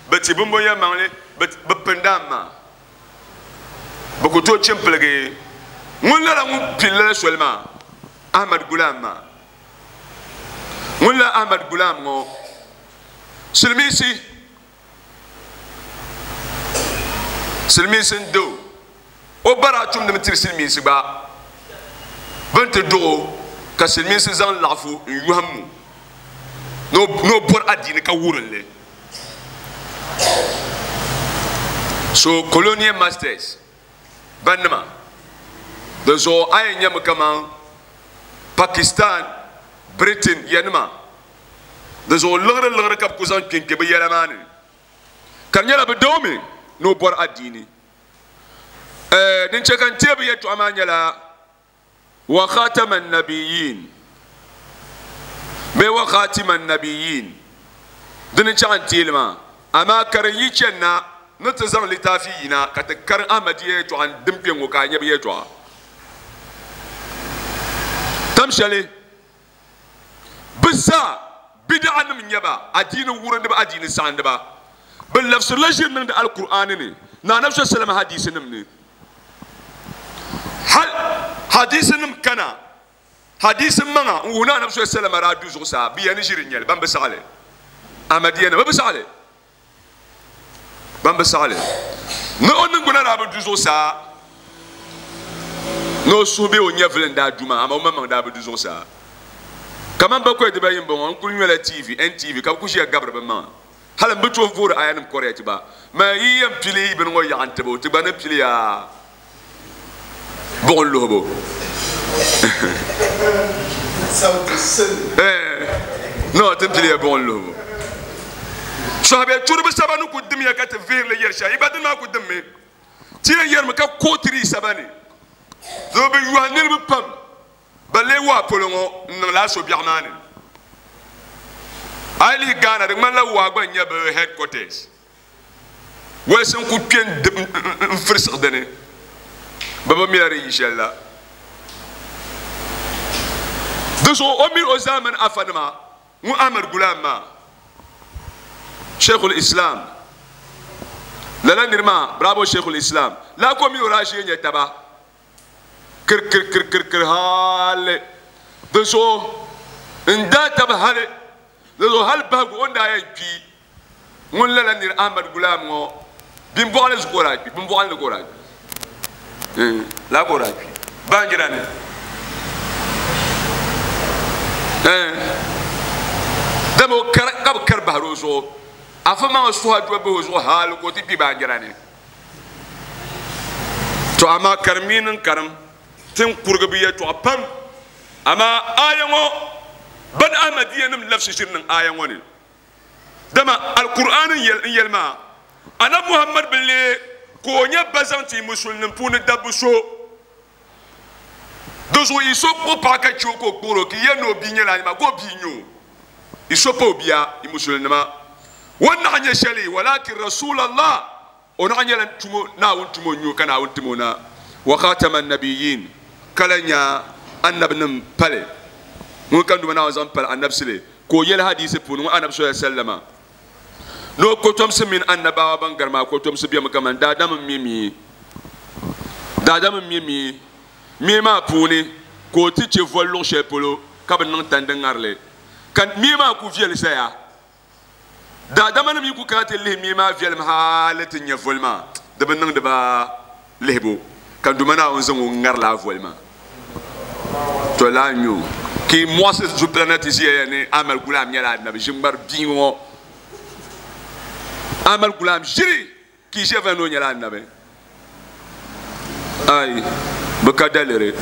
bɛ ti bimbɔŋ yɛlimaŋli, bɛ pindi a maa. Bɛ ku tooi chimpiligi ŋun lala ŋun pili lala soli maa, Ahmad Gulam maa. Ŋun la Ahmad Gulam ŋɔ, silimiinsi, silimiinsi n-di o. O ba daa tumdimi tiri silimiinsi gba. Bɛ ni ti duɣ o ka silimiinsi zaŋ laɣifu n-yɔhim o ni o bɔri adiini ka wurim li. So colonial masters bannima di zuɣu a yɛn nyami kaman Pakistan, Britain yanima di zuɣu liɣiri liɣiri ka bɛ ku zaŋ kpenkpe bɛ yɛla maa ni ka di nyɛla bɛ doomi ni o bɔri adiini. Din chɛ ka n teei bɛ yɛltɔɣa maa nyɛla wa khatama nabiyin bee wa khatima nabiyin dini chaŋ n teeli maa amaa ka di yi chani na ni ti zaŋ litaafi yina ka ti karim Ahmadiyya yɛltɔɣa n dim kpe ŋɔ ka a nya bɛ yɛltɔɣa tam shɛli bɛ zaa bid'anim n-nyɛ ba, adiini wurindiba, adiini saɣindiba. Bɛ labisirila ʒiri niŋdi Alkur'aani ni ni Anabi salama hadiisinim ni. Hal hadiisinim kana, hadiisi maŋa n-wuhi ni Anabi salama daa du zuɣusaa, bɛ ya ni ʒiri n-nyɛ li, ban bi saɣi li. Ahmadiyyanima bɛ bi saɣi li. Ban bi saɣi li ni o niŋgbuna daa bi du zuɣusaa, ni o suhu bee o nyɛvili n-daa du maa, amaa o maŋmaŋ daa bi du zuɣusaa. Kaman bakɔi dibayi m-bɔŋɔ, n kul nyɔla TV, NTV, ka bɛ kul ʒiya gabiri bɛ maŋa. Hal m bi tooi voori ayanim correct gba. Man yi yɛn pili bini ŋɔ yaɣa n-tib o, ti gba ni pili ya buɣim luhibu. No, ti ni pili ya buɣim luhibu. Sɔhibe turibu saba ni ku dimya ka ti vihiri li yɛri shɛli, yi gba dini maa ku dimmi. Ti yɛn yɛrimi ka kootiri yi saba ni. Doo bi yɔhi niriba pam ban lee waa polo ŋɔ n-niŋ lala so biɛɣu maa ni. A yi lihi Ghana, di ŋmanila waa gba n-nyɛ bɛ headquarters. Wolisi n-ku kpe n-firisigi di ni. Bɛ bi mila di yi shɛli la. Di zuɣu o mini o zaamani afanima ŋun Ahmad Gulam maa, Sheikhul Islam, lala niri maa, bravo Sheikhul Islam, lala ka o mini o daa ʒee nyɛ taba. Kirikirikirikiri hali di zuɣu n daa tabi hali di zuɣu hali bahigu o ni daa yɛn kpi ŋun lala niri Ahmad Gulam ŋɔ bimbɔɣili zuɣu ka o daa kpi bimbɔɣili ni ka o daa kpi laa ka o daa kpi baanjira ni dama o kari ka bi kari bahiri o zuɣu afa maŋa suha doli bahi o zuɣu hali ka o ti kpi baanjira ni. To amaa karim yi niŋ karim, ti ni kurigi bɛ yɛltɔɣa pam. Amaa aaya ŋɔ ban Ahmadiyyanim labisi ʒiri niŋ aaya ŋɔ ni, dama Alkur'aani n-yɛli maa, Anabi Muhammad bi leei ka o nyɛ ba zaŋ ti Musulinim puuni dabba so. Di zuɣu yi so kpuɣi paɣa ka chɛ o ka o kpuɣir o, ka yi yɛli ni o bia nyɛla a nima, ka o bia n-nyɛ o. Yi so pa o bia, yi Musulinima. O ni naɣ nyɛ shɛli, walakin Rasulallah, o naɣ nyɛla tumo, Naawuni tumo n-nyɛ o, ka Naawuni tim o na, wa khatama nabiyin, ka lahi nya anabinim pali. Ŋun ka Duuma Naawuni zaŋ pali anabisili, ka o yɛli hadiisi puuni, ŋun Anabi sallallahu alaihi wasallama, ni o kotomsi mini annabawa ban gari maa kotomsi bemi kaman daadam m-mi mi. Daadam m-mi mi. Mii maa puuni ka o ti chɛ voli luɣ shɛli polo ka bɛ niŋ tandi ŋari li, ka mii maa ku viɛli zaya. Daadamanim yi ku kana ti lihi mii maa viɛlim hali ti nya voli maa, di bi niŋdi ba lihibu, ka Duuma Naawuni zaŋ o ŋari lala voli maa. To laa n-nyɛ o, ka yi muɣisi zupila na ti ʒiya ya ni Ahmad Gulam nyɛla anabi ʒiŋmari bia ŋɔ. Ahmad Gulam ʒiri ka yi ʒiya vali ni o nyɛla anabi. Ai, bɛ ka daliri.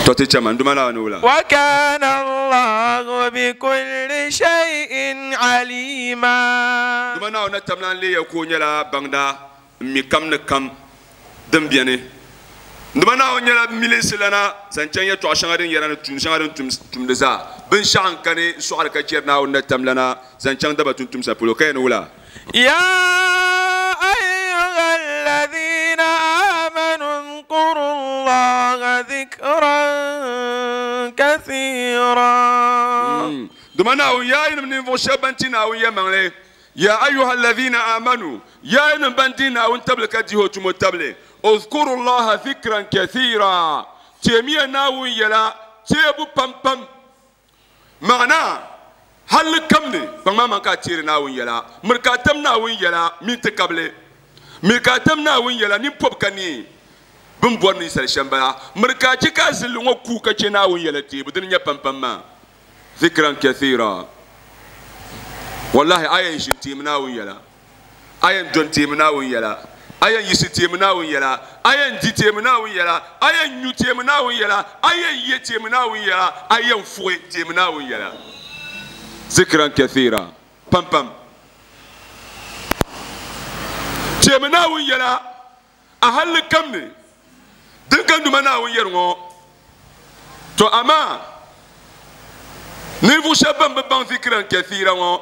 To ti chama, n Duuma Naawuni wula. Wa kana Allahu bi kulli shay'in alima. Duuma Naawuni na tam lan leeya ka o nyɛla baŋda m-mi kam ni kam. Din beni N Duuma Naawuni nyɛla milinsi lana zaŋ chaŋ yɛtɔɣ shɛŋa din yɛra ni tuun shɛŋa din tumdi zaa. Binshɛɣu n-kani n-sɔɣiri ka chɛri Naawuni na tamlana zaŋ chaŋ daba tumtumsa polo, ka yɛn wula? يا أيها الذين آمنوا اذكروا الله ذكرا كثيرا. Duma Naawuni, yaa yinim ninvuɣ shɛb ban ti Naawuni yɛlimaŋli, Ya ayuha alladhina amanu, yaa yinim ban di Naawuni tabili ka dihi o tumo tabili, udhkuru Allaha dhikran kathira, teemiya Naawuni yɛla teebu pam pam. Maana, halli kam ni, kpaŋ maŋ ka a teeri Naawuni yɛla, miri ka a tam Naawuni yɛla mini ti kabili, miri ka a tam Naawuni yɛla nini pɔbi ka neei bɛ ni bɔri ninsal shɛm bala, miri ka a chɛ ka a zilinli ŋɔ kuui ka chɛ Naawuni yɛla teebu, dini n-nyɛ pam pam maa. Dhikran kathira. Wallahi a yɛn ʒini teemi Naawuni yɛla, a yɛn doni teemi Naawuni yɛla, a yɛn yiɣisi teemi Naawuni yɛla, a yɛn di teemi Naawuni yɛla, a yɛn nyu teemi Naawuni yɛla, a yɛn ye teemi Naawuni yɛla, a yɛn fuɣi teemi Naawuni yɛla. Dhikran kathira. Pam pam. Teemi Naawuni yɛla a halli kam ni. Din ka Duuma Naawuni yɛri ŋɔ, To amaa ninvuɣ shɛb bɛn bi baŋ zikran kathiira ŋɔ,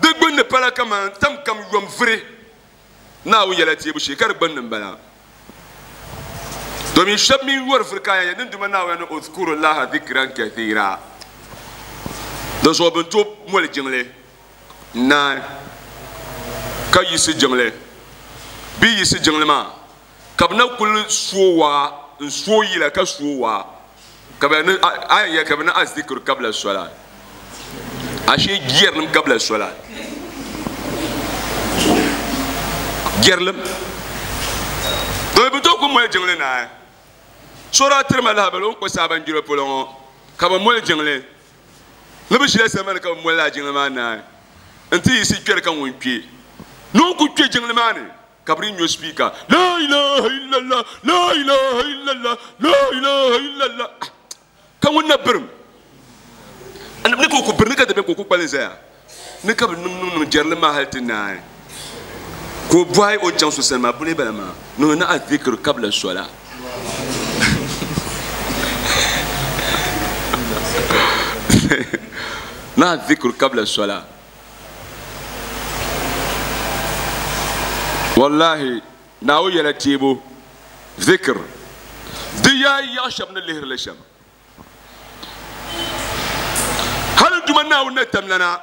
di gbunni pala kaman tam kam yom vuri Naawuni yɛla teebu shee, ka di gbunni m-bala. Domin shɛb mi yɔri vuri ka yɛn yɛli ni Duuma Naawuni ni Uzkurullaha zikran kathiira. Dinzuɣu bɛ ni tooi moli jiŋli n-naai ka yiɣisi jiŋli bɛ yi yiɣisi jiŋli maa ka bɛ na kuli suo waa n suo yila ka suo waa ka bɛ ni a yɛn yɛli ka bɛ ni azikiri kabila sola ashee jɛrilim kabila sola jɛrilim domi bɛ tooi ku moli jiŋli naai so daa tiri ma lahabali o ni kpa saabanjira polo ŋɔ ka bɛ moli jiŋli Ni bɛ ʒila samani ka bɛ moli lala jiŋli maa naai nti yiɣisi kpɛri ka ŋun kpe ni o ku kpe jiŋli maa ni ka bɛ di nyo spiika La ilaha illallah, la ilaha illallah, la ilaha illallah ka ŋun na birim ni ka o ku biri ni ka dabiɛm ka o ku kpalim zaya ni ka bɛ niŋ niŋ niŋ jɛrili maa hali ti naai ka o bɔhi o ni chaŋ so sani maa buni bala maa ni o ni azikiri kabila sola. Ni azikiri kabila sola. Wallahi Naawuni yɛla teebu zikir di yaa yaɣa shɛba ni lihiri li shɛm. Hali Duuma Naawuni ni tamlana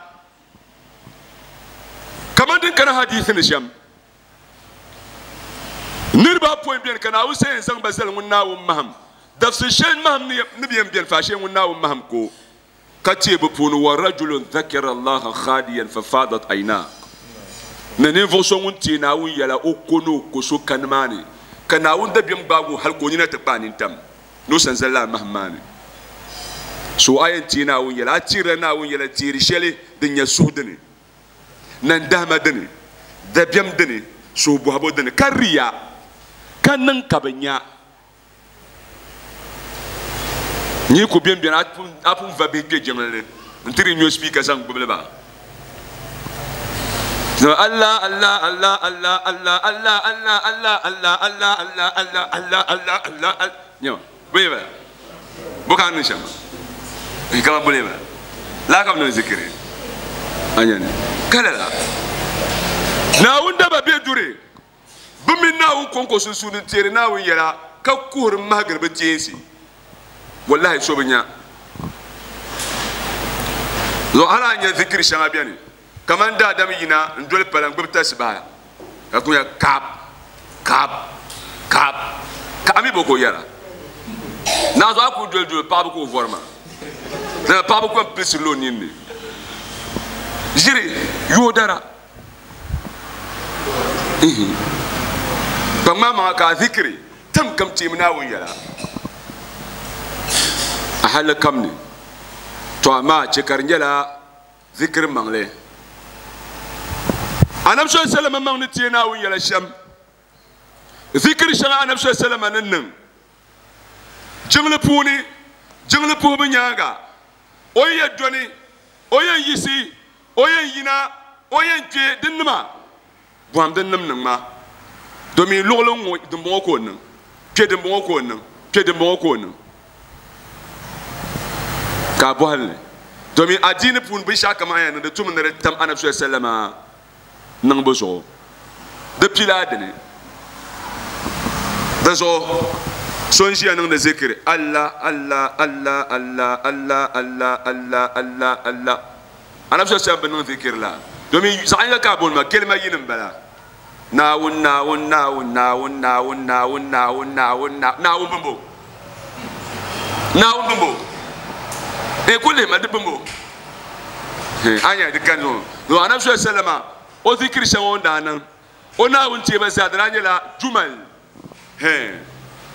kamani din kana hadiisi ni shɛm, niriba apɔin beni ka Naawuni sa yɛn zaŋ ba zali ŋun Naawuni mahim dabisi shɛli mahim ni bi yɛn beni faashee ŋun Naawuni mahim ko ka teei bɛ puuni wa rajulun dhakara Allaha khaliyan fafadat aynah ni ninvuɣ so ŋun teei Naawuni yɛla o ko ni o ko so kani maa ni ka Naawuni dabiɛm gbaagi o hali ka o nina ti kpaai nintam ni o sanzali lala mahim maa ni. So a yɛn teei Naawuni yɛla, a teerila Naawuni yɛla teeri shɛli din nyɛ suhu dini, nandahima dini, dabiɛm dini, suhubɔhibo dini, ka riya, ka niŋ ka bɛ nya. Nyi ku beni beni a pun va bihi kpe jiŋli ni nti di nyo spiika zaŋ gbubili ba. Allah Allah Allah Allah Allah Allah Allah Allah Allah Allah Allah Allah Allah Allah Allah Allah nyama bole bala bo ka niŋ shɛm maa kama bole bala laa ka bi niŋ zikiri a nyani ka lala Naawuni daba be duri bɛ mini Naawuni kɔŋko sunsuuni n-teeri Naawuni yɛla ka kuhiri m-mahigiri bɛ teensi. Wallahi so bi nya. Zuɣu hali a nya zikiri shɛŋa beni kamani daadam yina n-doli pala n-gbubi tasibaha ka ku nya kaap, kaap, kaap, ka a mi bo ka o yɛra. Naɣ zuɣu a kuli doli doli paɣaba ka o vɔri maa. Lala paɣaba kom pilisirila o ninni. Ʒiri yoodara. Kpaŋ maa maŋa ka a zikiri tam kam teemi Naawuni yɛla a halli kam ni. To amaa chɛ ka di nyɛla zikiri maŋli. Anabi sallallahu alaihi wasallam maŋ ni teei Naawuni yɛla shɛm, zikiri shɛŋa Anabi sallallahu alaihi wasallam ni niŋ jiŋli puuni, jiŋli puhibu nyaaŋa, o yi yɛn doni, o yɛn yiɣisi O yɛn yina, o yɛn kpe di nima, bɔhim di nim niŋ ma. Domin luɣuli n ŋɔ dimbɔŋɔ ka o niŋ kpɛ dimbɔŋɔ ka o niŋ kpɛ dimbɔŋɔ ka o niŋ ka a bɔhili li domin adiini puuni binshɛɣu kam a yɛn niŋ di tumi ni di tam anabi sallallahu alaihi wasallam niŋbu zuɣu di pila a dini di zuɣu so n ʒiya niŋdi zikiri Allah Allah Allah Allah Allah Allah Allah Allah Allah anabi sallallahu alaihi wasallam bi niŋ zikiri la domin zaɣ yinga ka a booni maa kelima yini n bala Naawuni Naawuni Naawuni Naawuni Naawuni Naawuni Naawuni Naawuni Naawuni bimbo Naawuni bimbo e ku lihima di bimbo anya di kan zuɣu zuɣu anabi sallallahu alaihi wasallam o zikiri shɛŋa o ni daa niŋ o Naawuni teeba zaa di daa nyɛla jumal di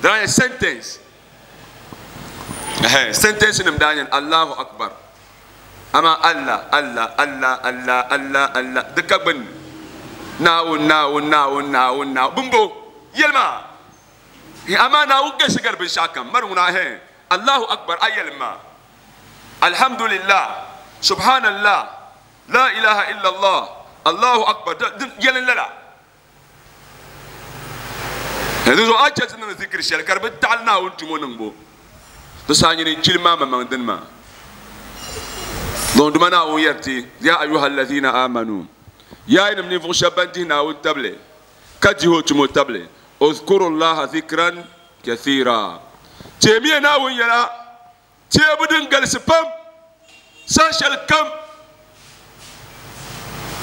daa nyɛ sentence sentence nim daa nyɛ Allahu akbar Amaa Allah, Allah, Allah, Allah, Allah, Allah, di ka gbunni. Naawuni, Naawuni, Naawuni, Naawuni, Naawuni, bimbo, yɛli maa. Hee, amaa Naawuni galisi gari binshɛɣu kam. Mari ŋuna, hee, Allahu Akbar, a yɛlim maa. Alhamdulillah, Subhanallah, La ilaha illallah, Allahu Akbar, di, yɛlim lala. Di zuɣu a chɛ ti niŋ zikiri shɛli ka di bi taɣili Naawuni tumo niŋbu, di saha nyini n-chili maa maŋmaŋ dini maa. Dɔnduma Naawuni yɛri ti, Ya ayuha allazina amanu, yaa yinim ninvuɣ shɛba ban dihi Naawuni tabili ka dihi o tumo tabili, uzkuru Allaha zikran kathira, teemiya Naawuni yɛla teebu din galisi pam saha shɛli kam.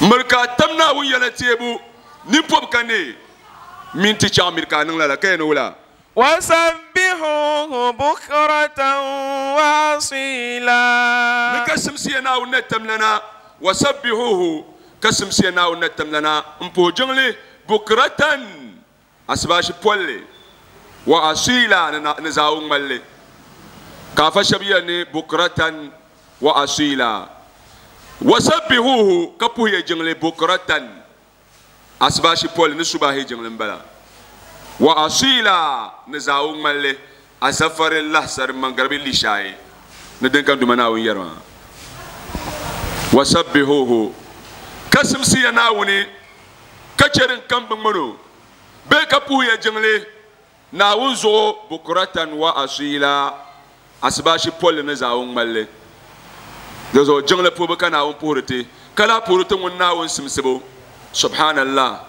Miri ka a tam Naawuni yɛla teebu nimpɔbu ka neei mini ti chaɣ miri ka a niŋ lala ka yɛn wula. Wasabbihuuhu bukratan wa asiila. Ni ka simsiya Naawuni na tamlana, wasabbihuuhu, ka simsiya Naawuni na tamlana m-puhi jiŋli bukratan Asibaasi polli, wa asiila ni zaawun ŋmalli, ka afa shɛba yɛli ni bukratan wa asiila, wa sabbihuuhu ka puhiya jiŋli bukratan asibaasi polli ni subahi jiŋli m-bala, wa asiila ni zaawun ŋmalli, azafari lahasari mangaribi lishaayi ni din ka Duuma Naawuni yɛri maa, wa sabbihuuhu ka simsiya Naawuni ka chɛ din kam bi ŋmani o bee ka puhiya jiŋli Naawuni zuɣu bukuratan wa asiila, asibaasi polli ni zaawuni ŋmalli. Di zuɣu jiŋli puhibu ka Naawuni puhiri ti, ka lahi puhiri ti ŋun Naawuni simsibu. Subhanallah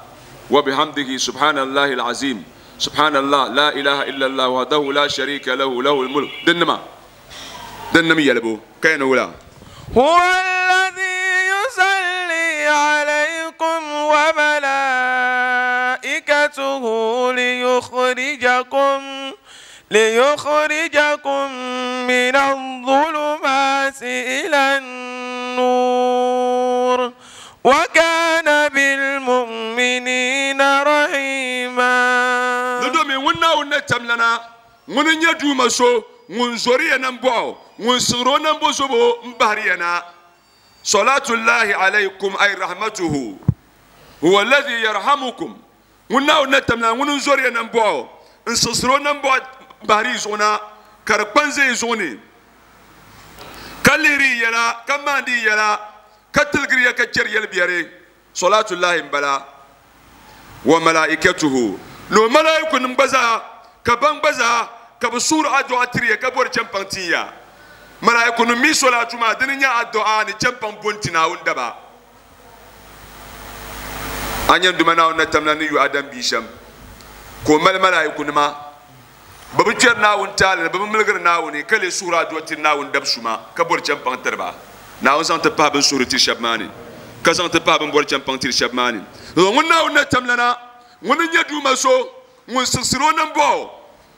wa bihamdihi subhanallahi al-azim subhanallah la ilaha illallah wahdahu la sharika lahu lahul mulk dinnima dinnim yɛlibu ka yɛn ni wula. Huwa alladhi yusalli alaykum wa malaikatuhu liyukhrijakum liyukhrijakum min adh-dhulumati ila an-nur wa kana bil-mu'minina rahima. Ni domin ŋun Naawuni na tamlana Ŋuni n-nyɛ Duuma so ŋun zɔri ya nambɔɣu, ŋun siɣiri o nambo zobo m-bahiri ya na. Salatullahi alaykum ay rahmatuhu huwa alladhi yarhamukum. Ŋun Naawuni na tamla ŋuni n-zɔri ya nambɔɣu n-siɣisiri o nambɔɣu m-bahiri yi zuɣu na ka di kpa n-ʒe yi zuɣu ni, ka lihiri yi yɛla, ka maandi yi yɛla, ka tiligiri ya ka chɛri yɛlibiɛri. Salatullahi m-bala, wa malaikatuhu, ni o malaaikunim gba zaa, ka ban gba zaa ka bɛ suhiri addu'a tiri ya ka bɔri chɛmpaŋ tin ya. Malaaikunim mi salatu maa dini n-nyɛ addu'a ni chɛmpaŋ bo n-ti Naawuni daba. A nya n Duuma Naawuni na tamla ni yu Adam bia shɛm, ka o mali malaa'ikunima. Bɛ bi kpɛri Naawuni taali ni, bɛ bi miligiri Naawuni, ka lee suhiri adua tiri Naawuni dab suma, ka bɔri chɛmpaŋ tiri ba. Naawuni zaŋ ti pahi bɛ ni suhiri tiri shɛba maa ni, ka zaŋ ti pahi bɛ ni bɔri chɛmpaŋ tiri shɛba maa ni. Zuɣu ŋun Naawuni na tamlana, ŋuni n-nyɛ Duuma so ŋun siɣisiri o nambɔɣu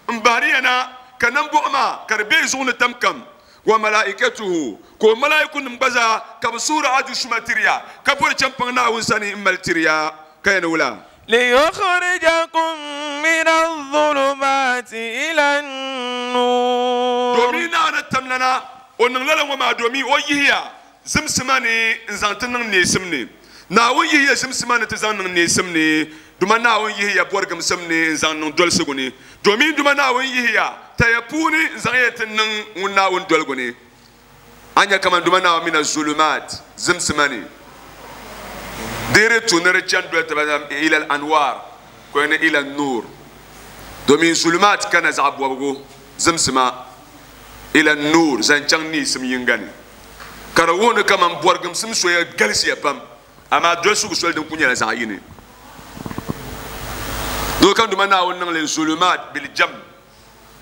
m-bahiri ya na, ka nambɔɣu maa ka di be yi zuɣu ni tam kam, wa malaikatuhu, ka o malaaikunim gba zaa ka bɛ suhiri adu suma tiri ya, ka bɔri chɛmpaŋ Naawuni sani m-mali tiri ya, ka yɛn ni wula? Liyukhrijakum mina zulumati ila n-nur. Domin Naawuni tamlana, o niŋ lala ŋɔ maa domin o yihi ya zimsima ni n-zaŋ ti niŋ neesim ni. Naawuni yihi ya zimsima ni ti zaŋ niŋ neesim ni, duma Naawuni yihi ya bɔrigimsim ni n-zaŋ niŋ dolisigu ni, domin duma Naawuni yihi ya taya puuni n-zaŋ ya ti niŋ ŋun Naawuni doligu ni. A nya kaman duma Naawuni mina zulumaat, zimsima ni, di di tu ni di chani doli taba ilal anwaar, Ko ni ila nur, domin zulumat kana zaɣ bɔbigu zimsima, ila nur zaŋ chaŋ neesim yinga ni, ka di wuhi ni kaman bɔrigimsim soya galisiya pam, amaa dolisigu soli din ku nyɛla zaɣ yini. Doo ka Duuma Naawuni niŋ li zulumat bil jam,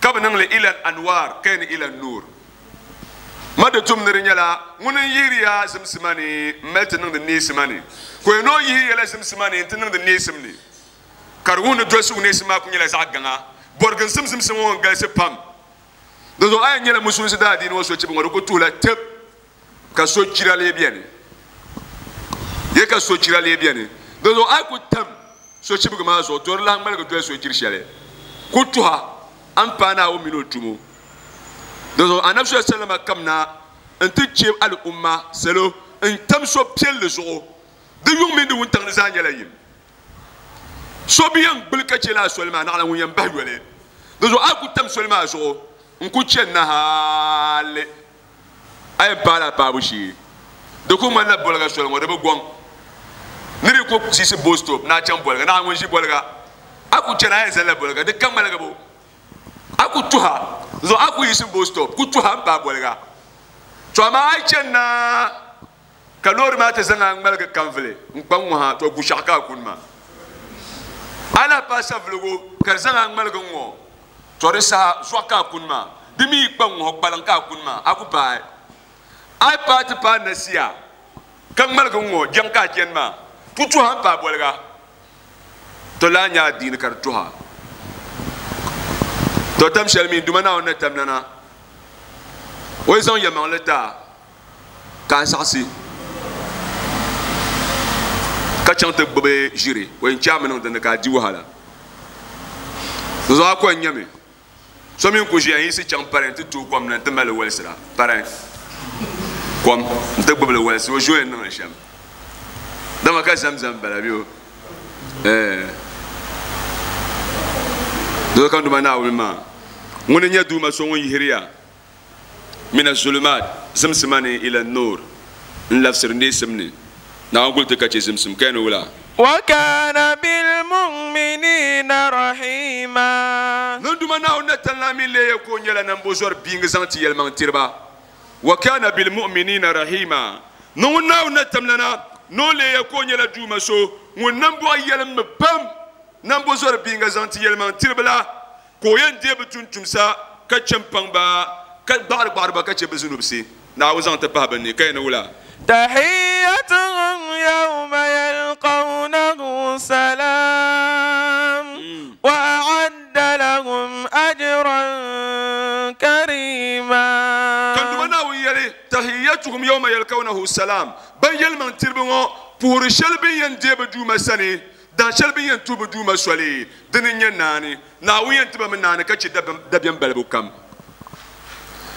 ka bi niŋ li ila anwar, ka yɛn ila nur. Ma di tum ni di nyɛla ŋuni n-yihiri ya zimsima ni m-mali ti niŋdi neesima ni, ka o yɛn o yihi ya la zimsima ni nti niŋdi neesim ni, ka di wuhi ni dolisigu neesim maa ku nyɛla zaɣ gaŋa. Bɔriginsim zimsim ŋɔ n-galisi pam. Dinzuɣu a yɛn nyɛla musulinsi daadiini ŋɔ sochibi ŋɔ di ku tuhila tib ka sochira lee beni. Ye ka sochira lee beni. Dinzuɣu a yi ku tam sochibigi maa zuɣu, to di lahi ŋmaligi doli sochiri shɛli ku tuha a ni paai Naawuni mini o tumo. Dinzuɣu Anabi sallallahu alayhi wa sallam kamina nti che al'umma salo n-tam so piɛlli zuɣu. Di yuŋ mini di wuntaŋ ni zaa nyɛla yim. So bi yɛn gbuli ka che lala soli maa, naɣila ŋun yɛn bahi yoli. Dinzuɣu a yi ku tam soli maa zuɣu n-ku chani na hali a yɛn paai la a paabu shee. Di ku ŋmanila boliga soli ŋɔ, di bi gɔŋ. Ni di ku siɣisi bus stop ni a chaŋ boliga, naɣila ŋun ʒi boliga, a ku chani a yɛn zalila boliga, di ka ŋmaligibu. A ku tuha, dinzuɣu a ku yiɣisi bus stop ku tuha m-paai boliga. To amaa a yi chani na ka loori maa ti zaŋ a ŋmaligi kanvili n-kpa ŋ-ŋɔ ha, to gushɛɣu ka a kuni maa. A lahi paai savuligu ka di zaŋ a ŋmaligi ŋ-ŋɔ, to di saha zuɣu ka a kuni maa. Di mi yi kpa ŋ-ŋɔ kpaliŋ ka a kuni maa, a ku paai. A yi paai ti paai Nasia ka ŋmaligi ŋ-ŋɔ jɛŋ ka a chani maa, ku tuha m-paai boliga. To lahi nya adiini ka di tuha. To tam shɛli mi Duuma Naawuni ni tam lana, o yi zaŋ yɛlimaŋli ti a ka a zaɣisi ka chaŋ ti gbubi ʒiri, o yɛn chaami niŋ dinni ka a di wahala. Dinzuɣu a ko n-nyami so mi n-ku ʒiya n-yiɣisi chaŋ pari nti tooi kom na nti mali li walisira pari kom nti gbubi li walisi o ʒi o yɛn niŋ li shɛm. Dama ka Zamzam bala bɛ o eh. Dinzuɣu ka Duuma Naawuni maa ŋuni n-nyɛ Duuma so ŋun yihiri ya mina zulumaat zimsima ni ila nur n labisiri neesim ni. Naawuni guli ti ka chɛ zimsim ka yɛn ni wula? Wa kana bilmuminina rahima. Ni Duuma Naawuni na talila mi leeya ka o nyɛla nambɔzɔri biingi zaŋ ti yɛlimaŋ tiriba. Wa kana bilmuminina rahima. Ni ŋun Naawuni na tamlana ni o leeya ka o nyɛla Duuma so ŋun nambɔɣu yɛlimmi pam nambɔzɔri biinga zaŋ ti yɛlimaŋ tiriba la, ka o yɛn deei bɛ tumtumsa ka chɛ m-paŋ ba, ka gbaɣiri gbaɣiri ba ka chɛ bɛ zunubisi. Naawuni zaŋ ti pahi bɛ ni, ka yɛn ni wula? Tahiyyatuhum yawma yalqawnahu salam wa a'adda lahum ajran karima. Ka Duuma Naawuni yɛli, Tahiyyatuhum yawma yalqawnahu salam, Ban yɛlimaŋ tiriba ŋɔ puhiri shɛli bɛ ni yɛn deei bɛ Duuma sani, dah shɛli bɛ ni yɛn tuhi bɛ Duuma soli, dini n-nyɛ naani. Naawuni yɛn ti ba mi naani ka chɛ dabiɛm balibu kam.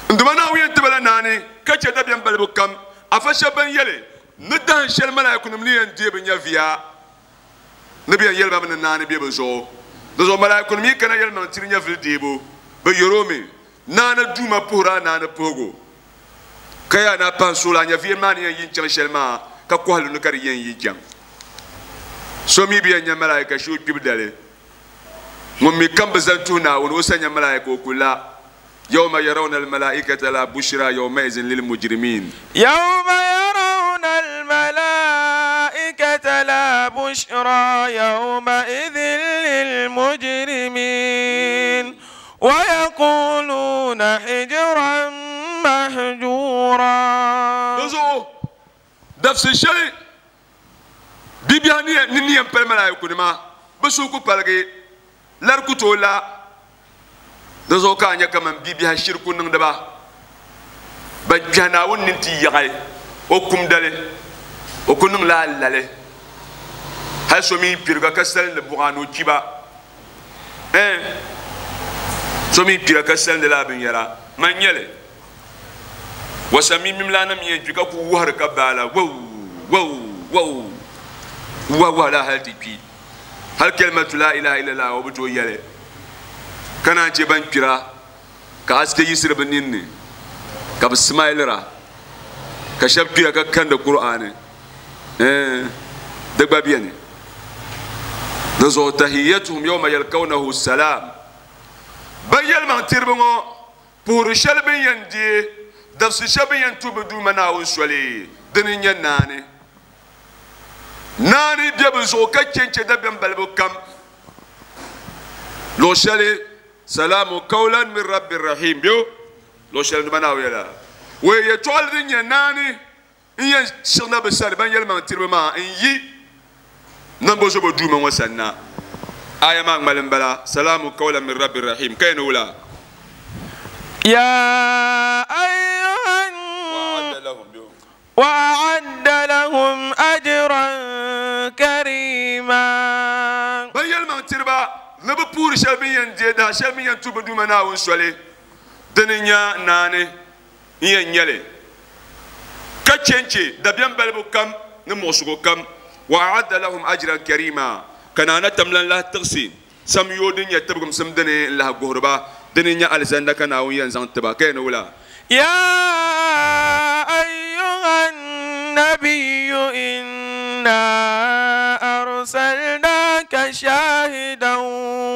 N Duuma Naawuni yɛn ti ba la naani ka chɛ dabiɛm balibu kam. Afa shɛba ban yɛli ni dahin shɛli malaaikunim ni yɛn deei bɛ nyɛviya ni bɛ yɛn yɛli ba mi ni naani be bɛ zuɣu. Dinzuɣu malaaikunim yi kana yɛlimaŋ tiri nyɛvili deebu, bɛ yɛr o mi, Naani Duuma puhir a naani puhigu, ka yaa ni a pahi suɣili a nyɛviya maa ni yɛn yi n-chaŋ shɛli maa, ka kɔhi li ni ka di yɛn yi chaŋ. So mi bi yɛn nya malaika shee o kpibu dali. Ŋun mi kam bi zani tuhi Naawuni, o sa nya malaika o ku la. Yawma yarawna al-malaikata la bushra yawmaizin lil-mujrimin. Yawma yarawna al-malaikata la bushra yawmaizin lil-mujrimin wa yaquluna hijran mahjura. Dinzuɣu dabisi shɛli bibiɛhi ni ni yɛn pali malaikunima, bɛ suhu ku paligi, lari ku tooi la. Di zuɣu ka a nya kaman bibiɛhi shiri ku niŋdi ba ban kpɛhi Naawuni nini ti yaɣi o kum dali, o ku niŋla alali. Hal so mi kpiriga ka salindi buɣa ni o kpi ba. Ɛɛn, so mi kpira ka salindi lala binyɛra, man n-nyɛ li. Wasamimim lana mi yɛn kpi ka ku wahiri ka baala waw waw waw wahi wahi la hali ti kpi. Hali kalimatu la ilaha illallah o bi tooi yɛli ka naan chɛ ban kpira ka asike yiɣisiri bɛ ninni ka bɛ smailira ka shɛba kpira ka kandi Kur'aani. Ɛɛn, di gba beni. Di zuɣu tahiyyatuhum yawma yalkawnahu salam. Ban yɛlimaŋ tiriba ŋɔ puhiri shɛli bɛ ni yɛn deei, dabisi shɛli bɛ ni yɛn tuhi bɛ Duuma Naawuni soli, dini n-nyɛ naani. Naani be bɛ zuɣu ka che n-che dabiɛm balibu kam. Luɣ shɛli, Salaamu qawlan min Rabbir Rahiim be o luɣ shɛli Duuma Naawuni yɛla. Wei yɛtɔɣili din nyɛ naani n-yɛn siɣina bɛ sani ban yɛlimaŋ tiriba maa n-yi nambozobo Duuma ŋɔ sani na. Aya maa ŋmali m-bala, Salaamu qawlan min Rabbir Rahiim, ka yɛn ni wula? Ya ayyuhan وأعد لهم أجرا كريما. Ban yɛlimaŋ tiriba ni bɛ puuri shɛli bɛ ni yɛn deei daha shɛli bɛ ni yɛn tuhi bɛ Duuma Naawuni soli, dini n-nya naani n-yɛn nyɛ li, ka chɛ n-chɛ dabiɛm balibu kam ni muɣisigu kam. وأعد لهم أجرا كريما, ka Naana Tamlan lahi tiɣisi samyoo din nyɛ tibigimsim dini n-lahi guhiri ba, dini n-nyɛ alizanda ka Naawuni yɛn zaŋ ti ba, ka yɛn ni wula? Ya ayyuhan nabiyyu inna arsalnaka shahidan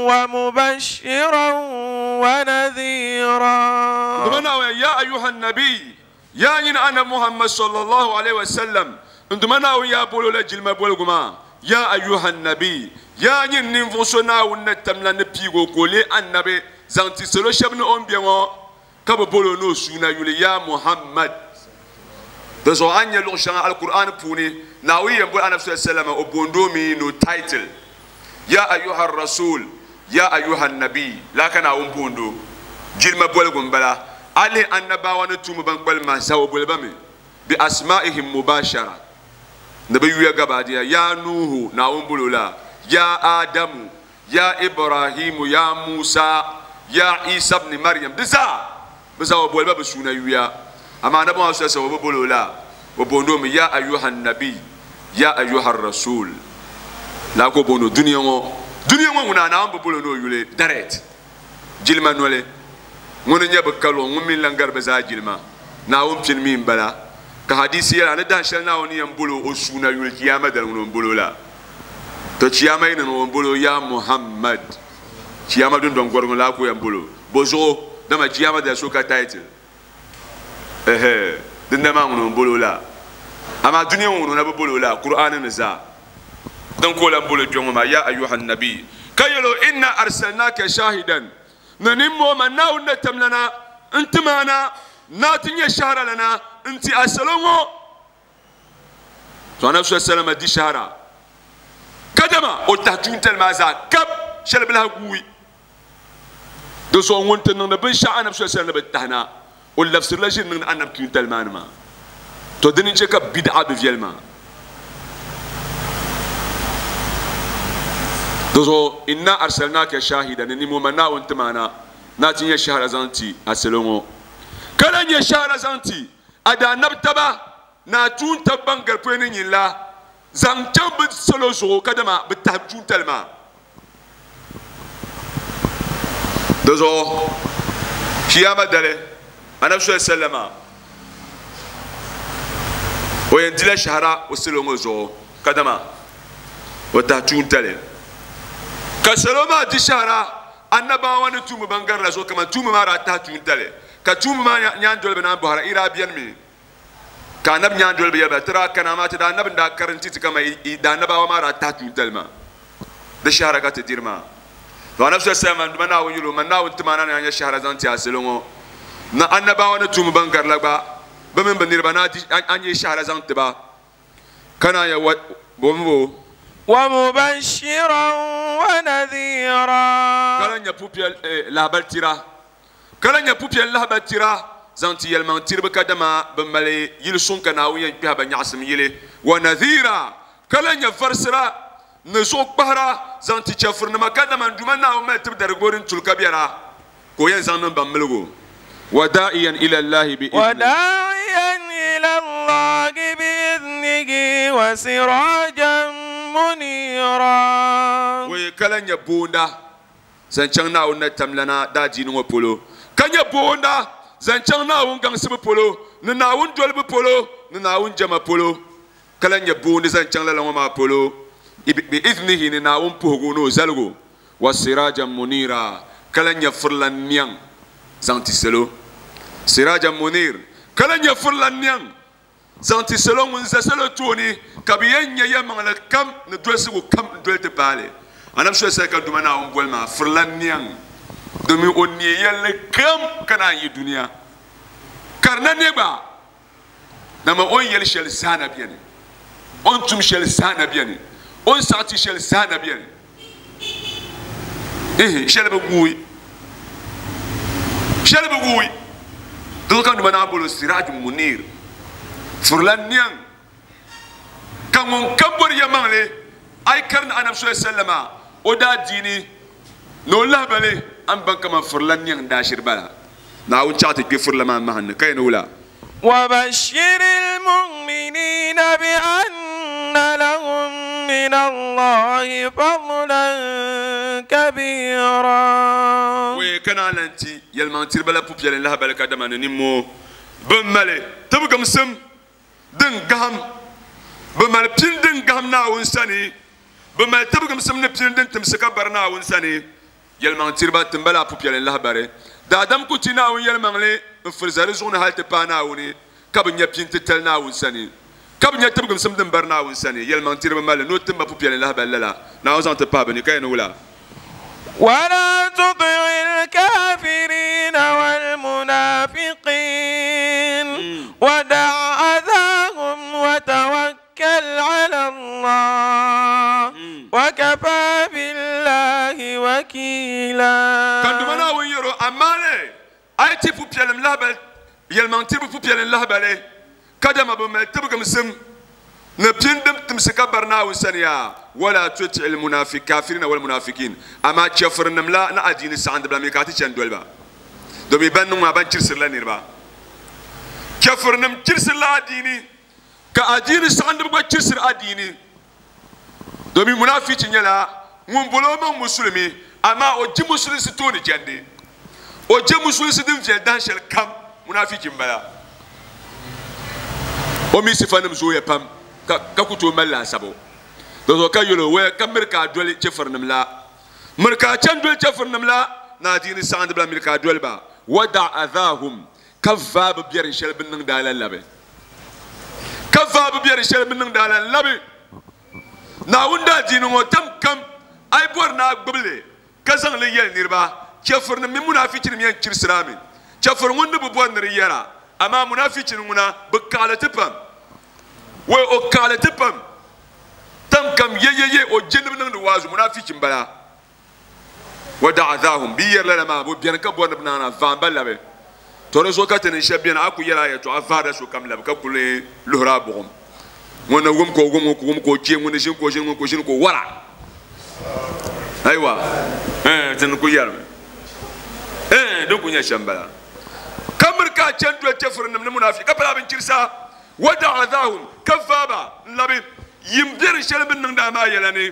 wa mubashiran wa nadhira. Dama Naawuni ya ayyuhan nabiy, ya nyini Anabi Muhammad sallallahu alaihi wasallam, n-duma Naawuni yaa boli o la jilima boligu maa, ya ayyuhan nabiy, ya nyini ninvuɣ so Naawuni ni tamla ni piigi o ka o leei Anabi zaŋ ti salo shɛba ni o ni be ŋɔ, ka bɛ boli o ni o suuna yuli, ya Muhammad. Di zuɣu a ni nya luɣ shɛŋa Alkur'aani puuni, Naawuni yɛn boli Anabi sallallahu alaihi wasallam o boond o mi ni o title, Ya ayyuha rasul, ya ayyuha nabi, lala ka Naawuni boond o. Jilima boligu m-bala. A lihi annabawa ni tuumba ban kpalim maa zaa, o boli ba mi bi asma'ihim mubashara, ni bɛ yuya gabaadiya, Ya Nuhu, Naawuni boli o la, Ya Adamu, Ya Ibrahimu, Ya Musa, Ya Isa ibn Maryam, di zaa bɛ zaa o boli ba bɛ suuna yuya. Amaa Anabi Muhammad sallallahu alaihi wasallam o bi boli o la, o boond o mi Ya ayyuha nabi, Ya ayyuha rasul. Lala ka o boond o dunia ŋɔ. Dunia ŋɔ ŋuna Naawuni bi boli o ni o yuli direct. Jilima noli, ŋuni n-nyɛ bɛ kaluɣi, ŋun mi n-lan gari bɛ zaa jilima. Naawuni pini mi m-bala. Ka hadiisi yɛli a ni dahin shɛli Naawuni ni yɛn boli o o suuna yuli Chiyaama dali ŋuni o ni boli o la. To Chiyaama yi ni niŋ o ni boli o Ya Muhammad. Chiyaama dundɔŋ gɔrigu laa ka o yɛn boli o. Bɔzuɣu? Dama Chiyaama dali so ka title. Ɛhɛ, dindali maa ŋuni o ni boli o la. Amaa dunia ŋɔ ŋuni o na bi boli o la, Kur'aani ni zaa. Din ka o lan boli o kpe ŋɔ maa, Ya ayyuhan nabi, ka yɛl o, Inna arsalnaka shahidan, ni nimmoo man Naawuni na tamlana n-tim a na, ni a ti nyɛ shɛhiralana n-ti a salo ŋɔ. To Anabi sallallahu alaihi wasallam di shɛhira kadama o tahi tuuntali maa zaa kab shɛli bi lahi guui. Di zuɣu ŋun ti niŋdi binshɛɣu Anabi sallallahu alaihi wasallam ni bi tahi na, o labisirila ʒiri niŋdi Anabi tuuntali maa ni maa. To dini n-chɛ ka bid'a bi viɛli maa. Di zuɣu inna arsalnaka shahidan, ni nimo ma Naawuni tim a na ni a ti nyɛ shɛhira zaŋ ti a salo ŋɔ, ka lahi nyɛ shɛhira zaŋ ti a daanabi taba ni a tuun tab ban gari pɔi ni nyin la zaŋ chaŋ bɛ salo zuɣu kadama bɛ tahi tuuntali maa. Di zuɣu Chiyaama dali Anabi sallallahu alaihi wasallam o yɛn dila shɛhira o salo ŋɔ zuɣu kadama o tahi tuuntali, ka salo maa di shɛhira annabawa ni tuumba ban garila zuɣu kaman tuumba maa daa tahi tuuntali, ka tuumba maa nyaandoliba naan bɔhira, i daa beni mi? Ka anabi nyaandoliba yɛli ba, ti daa kana, amaa ti daa nabi n-daa karinti ti kaman i daannabawa maa daa tahi tuuntali maa. Di shɛhira ka ti diri maa. To Anabi sallallahu alaihi wasallam, Duuma Naawuni yɛl o, Man Naawuni tim a na ni a nya shɛhira zaŋ ti a salo ŋɔ, ni annabawa ni tuumba ban garila gba, bɛ mini bɛ niriba ni a nya shɛhira zaŋ ti ba, ka naan ya bo? Wa mubashiran wa nadhira. Ka lan nya pupiɛl lahibali tira. Ka lan nyɛ pupiɛlli lahibali tira zaŋ ti yɛlimaŋ tiriba kadama bɛ mali yili suŋ ka Naawuni yɛn kpɛhi ba nyaɣisim yili. Wa nadhiira, ka lan nyɛ varisira ni zuɣukpahira zaŋ ti chɛfurinima kadama n Duuma Naawuni mali tibidarigibo din tuli ka biɛla ka o yɛn zaŋ niŋ ba miligu. Wa daa'iyan ila Allahi bi Wa idhnihi. daa'iyan ila Allahi bi idhnihi wa sirajan muniira. Wei, ka lan nyɛ boonda zaŋ chaŋ Naawuni na tamlana daadiini ŋɔ polo, ka nyɛ boonda zaŋ chaŋ Naawuni gaŋsibu polo, ni Naawuni dolibu polo, ni Naawuni jɛma polo, ka lan nyɛ boondi zaŋ chaŋ lala ŋɔ maa polo, Bi idnihi ni Naawuni puhigu ni o zaligu. Wa sirajan munira, kala nyɛ furila niɛŋ zaŋ ti salo. Sirajan munir, kala nyɛ furila niɛŋ zaŋ ti salo ŋun za salo tooni ka bi yɛn nyɛ yɛlimaŋli kam ni dolsigu kam n doli ti paali. Anabi soli sali ka duma Naawuni boli maa furila niɛŋ, domin o neei yɛlli kam ka naan yi duniya ka di na ne gba, dama o ni yɛli shɛli zaa na bɛni, o ni tum shɛli zaa na bɛni, o ni saɣati shɛli zaa na bɛni. Ihi shɛli bi guui, shɛli bi guui. Di ka duma naa bolo siraj munir, furila niɛŋ, ka ŋun kam bori yɛmaŋli a yi karini anabi soli sallama o daa diini ni o lahabali an baŋ kaman furila niɛŋ daashiri bala. Naawuni chaɣ ti kpe furila maa mahim ni ka yɛn wula. وبشر المؤمنين بأن لهم من الله فضلا كبيرا. Wei kana lanti yɛlimaŋ tiriba la pupiɛlli lahabali ka dama ni nimmoo bin mali tibigimsim din gaham, bi mali pini din gaham Naawuni sani, bi mali tibigimsim ni pini din timsi ka bari Naawuni sani. Yɛlimaŋ tiriba timbala la pupiɛlli lahabali daadam ku ti Naawuni yɛlimaŋli n firi za di zuɣu ni hali ti paai Naawuni ka bi nya pini titali Naawuni sani, ka bi nya tibigimsim din bari Naawuni sani. Yɛlimaŋ tiriba mali ni o timba pupiɛlli lahabali lala Naawuni zaŋ ti pahi bi ni ka yɛn ni wula. ولا تطع الكافرين والمنافقين ودع أذاهم وتوكل على الله وكفى بالله وكيلا. Kan duma Naawuni yɛro amma le a yi ti pupiɛlim lahabali yɛlimaŋ tiriba pupiɛlim lahabali ka dama bi mali tibigimsim ni pini din timsi ka bari Naawuni sani yaa. Wala tuti almunafiq kafirina wal munafiqin, amma chɛfirinim la ni adiini saɣindibila mi ka a ti chɛni doliba, domin ban niŋ maa ban chirisirila niriba. Chɛfirinim chirisirila adiini ka adiini saɣindiba gba chirisiri adiini, domin munafichi nyɛla ŋun bolo o maŋ musulimi, amma o ji musulinsi tooni jɛndi, o je musulinsi din viɛli dahin shɛli kam. Munafichi n bala, o mi sifanim zooya pam ka ku tooi mali laasabu. Di zuɣu ka yɛlo wɛ ka miri ka a doli chɛfirinim la, miri ka a chɛni doli chɛfirinim la ni adiini saɣindibila, miri ka a doli ba. Wada adhaahum, ka vaa bi biɛri shɛli bin niŋdi a la labi, ka vaa bi biɛri shɛli bin niŋdi a la labi. Naawuni daa diini ŋɔ tam kam a yi bɔri ni a gbubili ka zaŋ li yɛli niriba, chɛfirinim mini munafichinim yɛn chirisira mi. Chɛfiri ŋun ni bi bɔri ni di yɛra, amaa munafichini ŋuna bi kaɣali ti pam, wai o kaɣali ti pam tam kam yeyeye o je ni bi niŋdi waazu. Munafichi n bala. Wa da'adhahum bi yɛri lala maa bi bɛni ka bɔri ni bi naana vaamba labi. To di zuɣu ka ti ni shɛba bɛni a ku yɛla a yɛltɔɣa vaarila sokam labi ka kuli luhiri a buɣum. Ŋun ni wum ka o wum, ŋun ku wum ka o chɛ, ŋun ni ʒini ka o ʒini, ŋun ku ʒini ka o wara. Ayiwa, ti ni ku yɛrimi din ku nyɛ shɛm bala. Ka miri ka a chɛni doli chɛfirinim ni munafi ka pala binchirisa. Wa da'adhahum, ka vaaba n labi yim biɛri shɛli bin niŋdi a maa yɛla ni.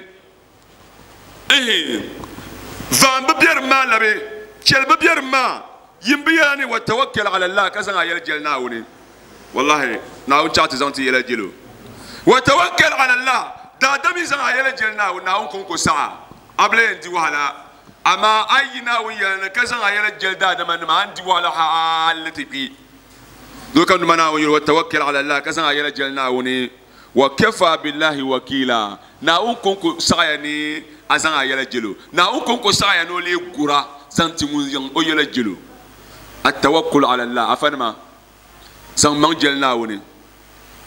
Vaam bi biɛrim maa labi, chɛli bi biɛrim maa yim bi yɛla ni. Wa tawakkal ala Allah, ka zaŋ a yɛli jɛli Naawuni. Wallahi, Naawuni chaɣ ti zaŋ ti yɛla jɛlo. Wa tawakkal ala Allah, daadam yi zaŋ a yɛla jɛli Naawuni, Naawuni kɔŋko saɣa a bi la yɛn di wahala. Amaa a yi Naawuni yɛla ni ka zaŋ a yɛla jɛli daadama nima, a ni di wahala hali ti kpi. Do ka numa Naawuni yɛli wa tawakkal ala Allah, ka zaŋ a yɛla jɛli Naawuni. Wa kafa billahi wakila, Naawuni kɔŋko saɣaya ni a zaŋ a yɛla jɛlo. Naawuni kɔŋko saɣaya ni o lee gura zaŋ ti ŋun zaŋ o yɛla jɛlo. Atawakkul ala Allah, afanima zaŋ maŋ jɛli Naawuni,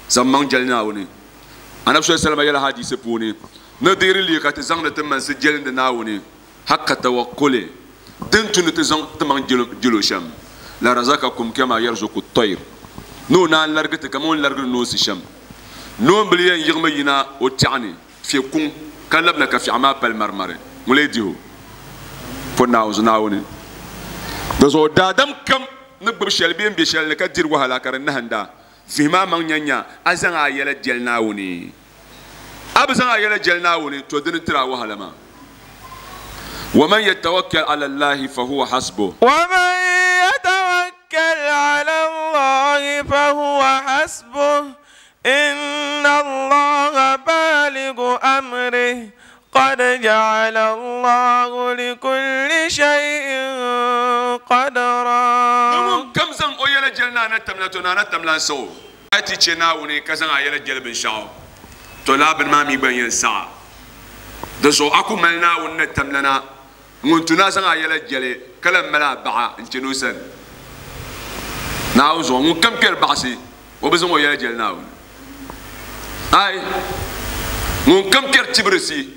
zaŋ maŋ jɛli Naawuni. Anabi sallallahu alaihi wasallam yɛla hadisi puuni ni dihiri lii ka ti zaŋdi ti mansi jɛlindi Naawuni haqqa tawakkuli, din tu ni ti zaŋ ti maŋ jɛlo shɛm, la razakakum kama yarzuqu at-tayr, ni o naan larigi ti kama o ni larigiri noonsi shɛm. Noonbili yɛn yiɣimi yina o tɛɣu ni fiɛ kuŋ ka labina ka fiɛɣu maa pali marimari, ŋun lee diho po Naawuni. Di zuɣu daadam kam ni gbubi shɛli bee n bɛ shɛli ni ka diri wahala ka di nahinda, vihima maŋ nya nya a zaŋ a yɛla jɛli Naawuni. A bi zaŋ a yɛla jɛli Naawuni, to dini tiri a wahala maa. ومن يتوكل على الله فهو حسبه. ومن يتوكل على الله فهو حسبه. إن الله بالغ أمره قد جعل الله لكل شيء قدرا. كم زن أو يلا جلنا نتملا تونا نتملا سو أتي تشناوني كزن أيلا جل بنشاو طلاب ما ميبين ينسى دسو أكو ملنا ونتملنا ونتنا زن أيلا جل كلام ملا بعا إنتنوسن ناوزو من كم كير بعسي وبزن أو يلا جل ناون أي من كم كير تبرسي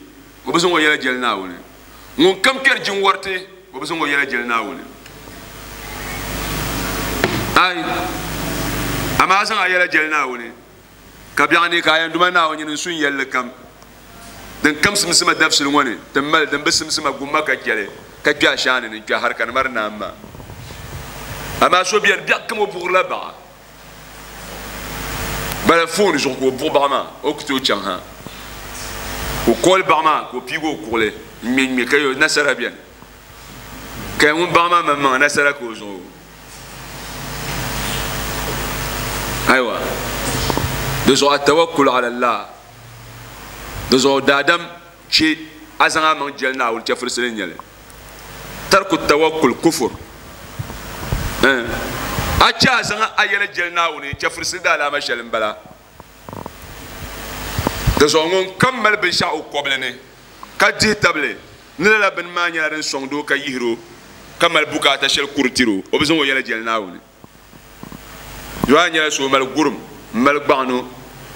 وبزن أو يلا جل ناون من كم كير جنورتي وبزن أو يلا جل ناون أي أما أزن أيلا جل ناوني كبيعني كاين دوما ناوني نسون يلا كم دن كم سمسمة دفس الوني تمل دن بس سمسمة قمة كجلي كجا شان نجا هركان مرنا أما أما شو بيان بيا كم وبغلا بقى بلا فون جوكو بوباما أكتو تشانها وكل بعما وبيجو كله من مكيو نسرة بيان كأون بعما مما نسرة كوزو أيوة دزو التوكل على الله دزو دادم شيء أزعم من جلنا والجفر سلين يلي ترك التوكل كفر أتى أزعم أيلا جلنا وني جفر سيدا لا مشلم بلا دزو نون كمل بنشاء قبلني كجه تبلي نلا بن ما نيارن صندوق كيهرو كمل بوكا تشيل كورتيرو وبزنو يلا جلنا وني يوان يسوع مال غرم مال بانو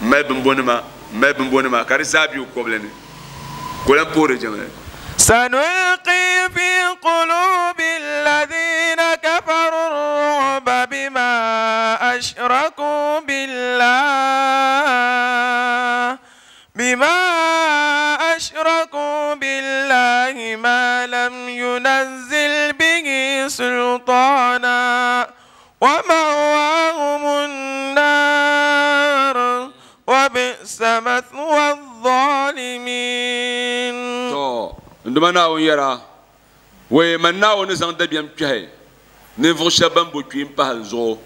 مال بنبونما مال بنبونما كارزابيو قبلني كلام بوري جماعة. سنلقي في قلوب الذين كفروا الرعب بما أشركوا بالله بما أشركوا بالله ما لم ينزل به سلطانا ومأواهم النار وبئس مثوى الظالمين. تو عندما ناون يرى ومن ناون زان دبيم كه نفو شبان بوكيم بانزو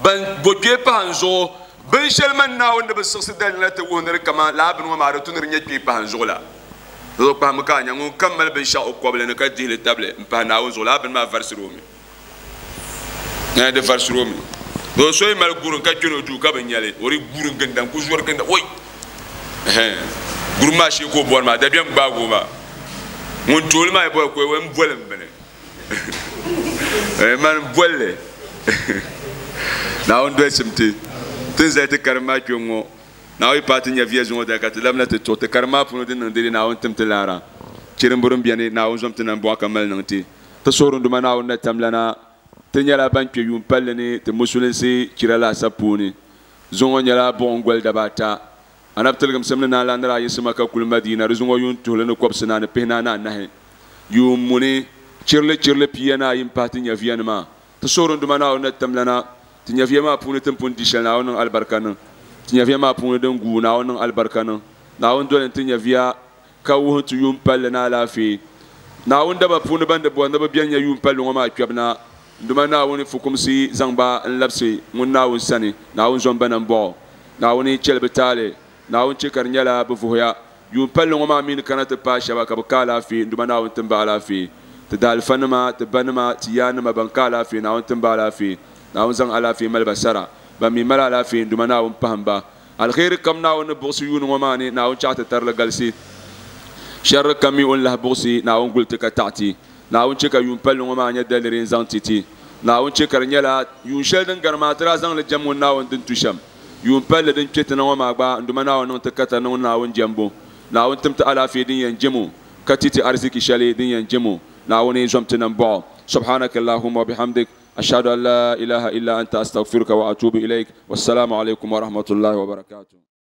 بان بوكي بانزو بن شلمن ناون بس سدال لا تقول كما لا بن وما رتون رنيا بانزو لا لو بام كان ينقول كمل بنشاء قبل نكدي للتابلة باناون زولا بن ما فرسرومي هذا فرسرومي دو سوي مال غورن كاتشونو جو كابنيالي وري غورن كندام كوزور كندام وي غورما شي كو بور ما دبيام باغو ما مون تول ما يبو كوي وم بولم بني man bolle na on do simti tin zai ti karma kyongo na wi pati nya viya zuŋɔ da ka ti labina ti tuɣi ti karima puuni din niŋ dede Naawuni tim ti laara chirimburim biɛni Naawuni zom ti nam bɔɣa ka mali niŋ ti ti suhuri duma Naawuni na tamlana ti nyɛla ban kpɛ yuun palli ni ti musulinsi chira laasabu puuni zuŋɔ nyɛla buɣum goli dabaata anabi tiligimsim ni naan lahi yiɣisima ka kuli Madina di zuŋɔ yuun tuhili ni kɔbisi naani pihinahi ni anahi yuun muni chirili chirili pia ni ayi m-pahi ti nyɛviya nima ti suhuri duma Naawuni na tamlana ti nyɛviya maa puuni ti ni pun di shɛli Naawuni niŋ alibarika niŋ ti nyɛviya maa puuni din guui Naawuni niŋ alibarika niŋ Naawuni doli ti nyɛviya ka wuhi ti yuun palli ni alaafee Naawuni daba puuni ban di bɔri ni bi bɛni nyɛ yuun palli ŋɔ maa kpɛbu na duma Naawuni fukumsi zaŋ ba n labisi ŋun Naawuni sani Naawuni zom ba nambɔɣu Naawuni chɛli bi taali Naawuni chɛ ka di nyɛla bi vuhiya yuun palli ŋɔ maa mi ni kana ti paai shɛba ka bi ka alaafee duma Naawuni tim ba alaafee ti daalifa nima ti ba nima ti yaa nima ban ka alaafee Naawuni tim ba alaafee Naawuni zaŋ alaafee mali ba sara ban mi mali alaafee duma Naawuni pahim ba alkhairi kam Naawuni ni buɣisi yuuni ŋɔ maa ni Naawuni chaɣ ti tarili galisi sharri kam mi o ni lahi buɣisi Naawuni guli ti ka taɣi ti Naawuni chɛ ka yuun palli ŋɔ maa nyɛ daliri n zaŋ ti ti Naawuni chɛ ka di nyɛla yuun shɛli din gari maa ti daa zaŋli jɛm ŋun Naawuni din tu shɛm yuun palli din kpɛ ti na ŋɔ maa gba n duma Naawuni niŋ ti katari ni ŋun Naawuni jɛmbu Naawuni tim ti alaafee din yɛn jɛmo ka ti ti ariziki shɛli din yɛn jɛmo Naawuni zom ti nambɔɣu subhanaka allahumma wa bihamdik أشهد أن لا إله إلا أنت أستغفرك وأتوب إليك والسلام عليكم ورحمة الله وبركاته.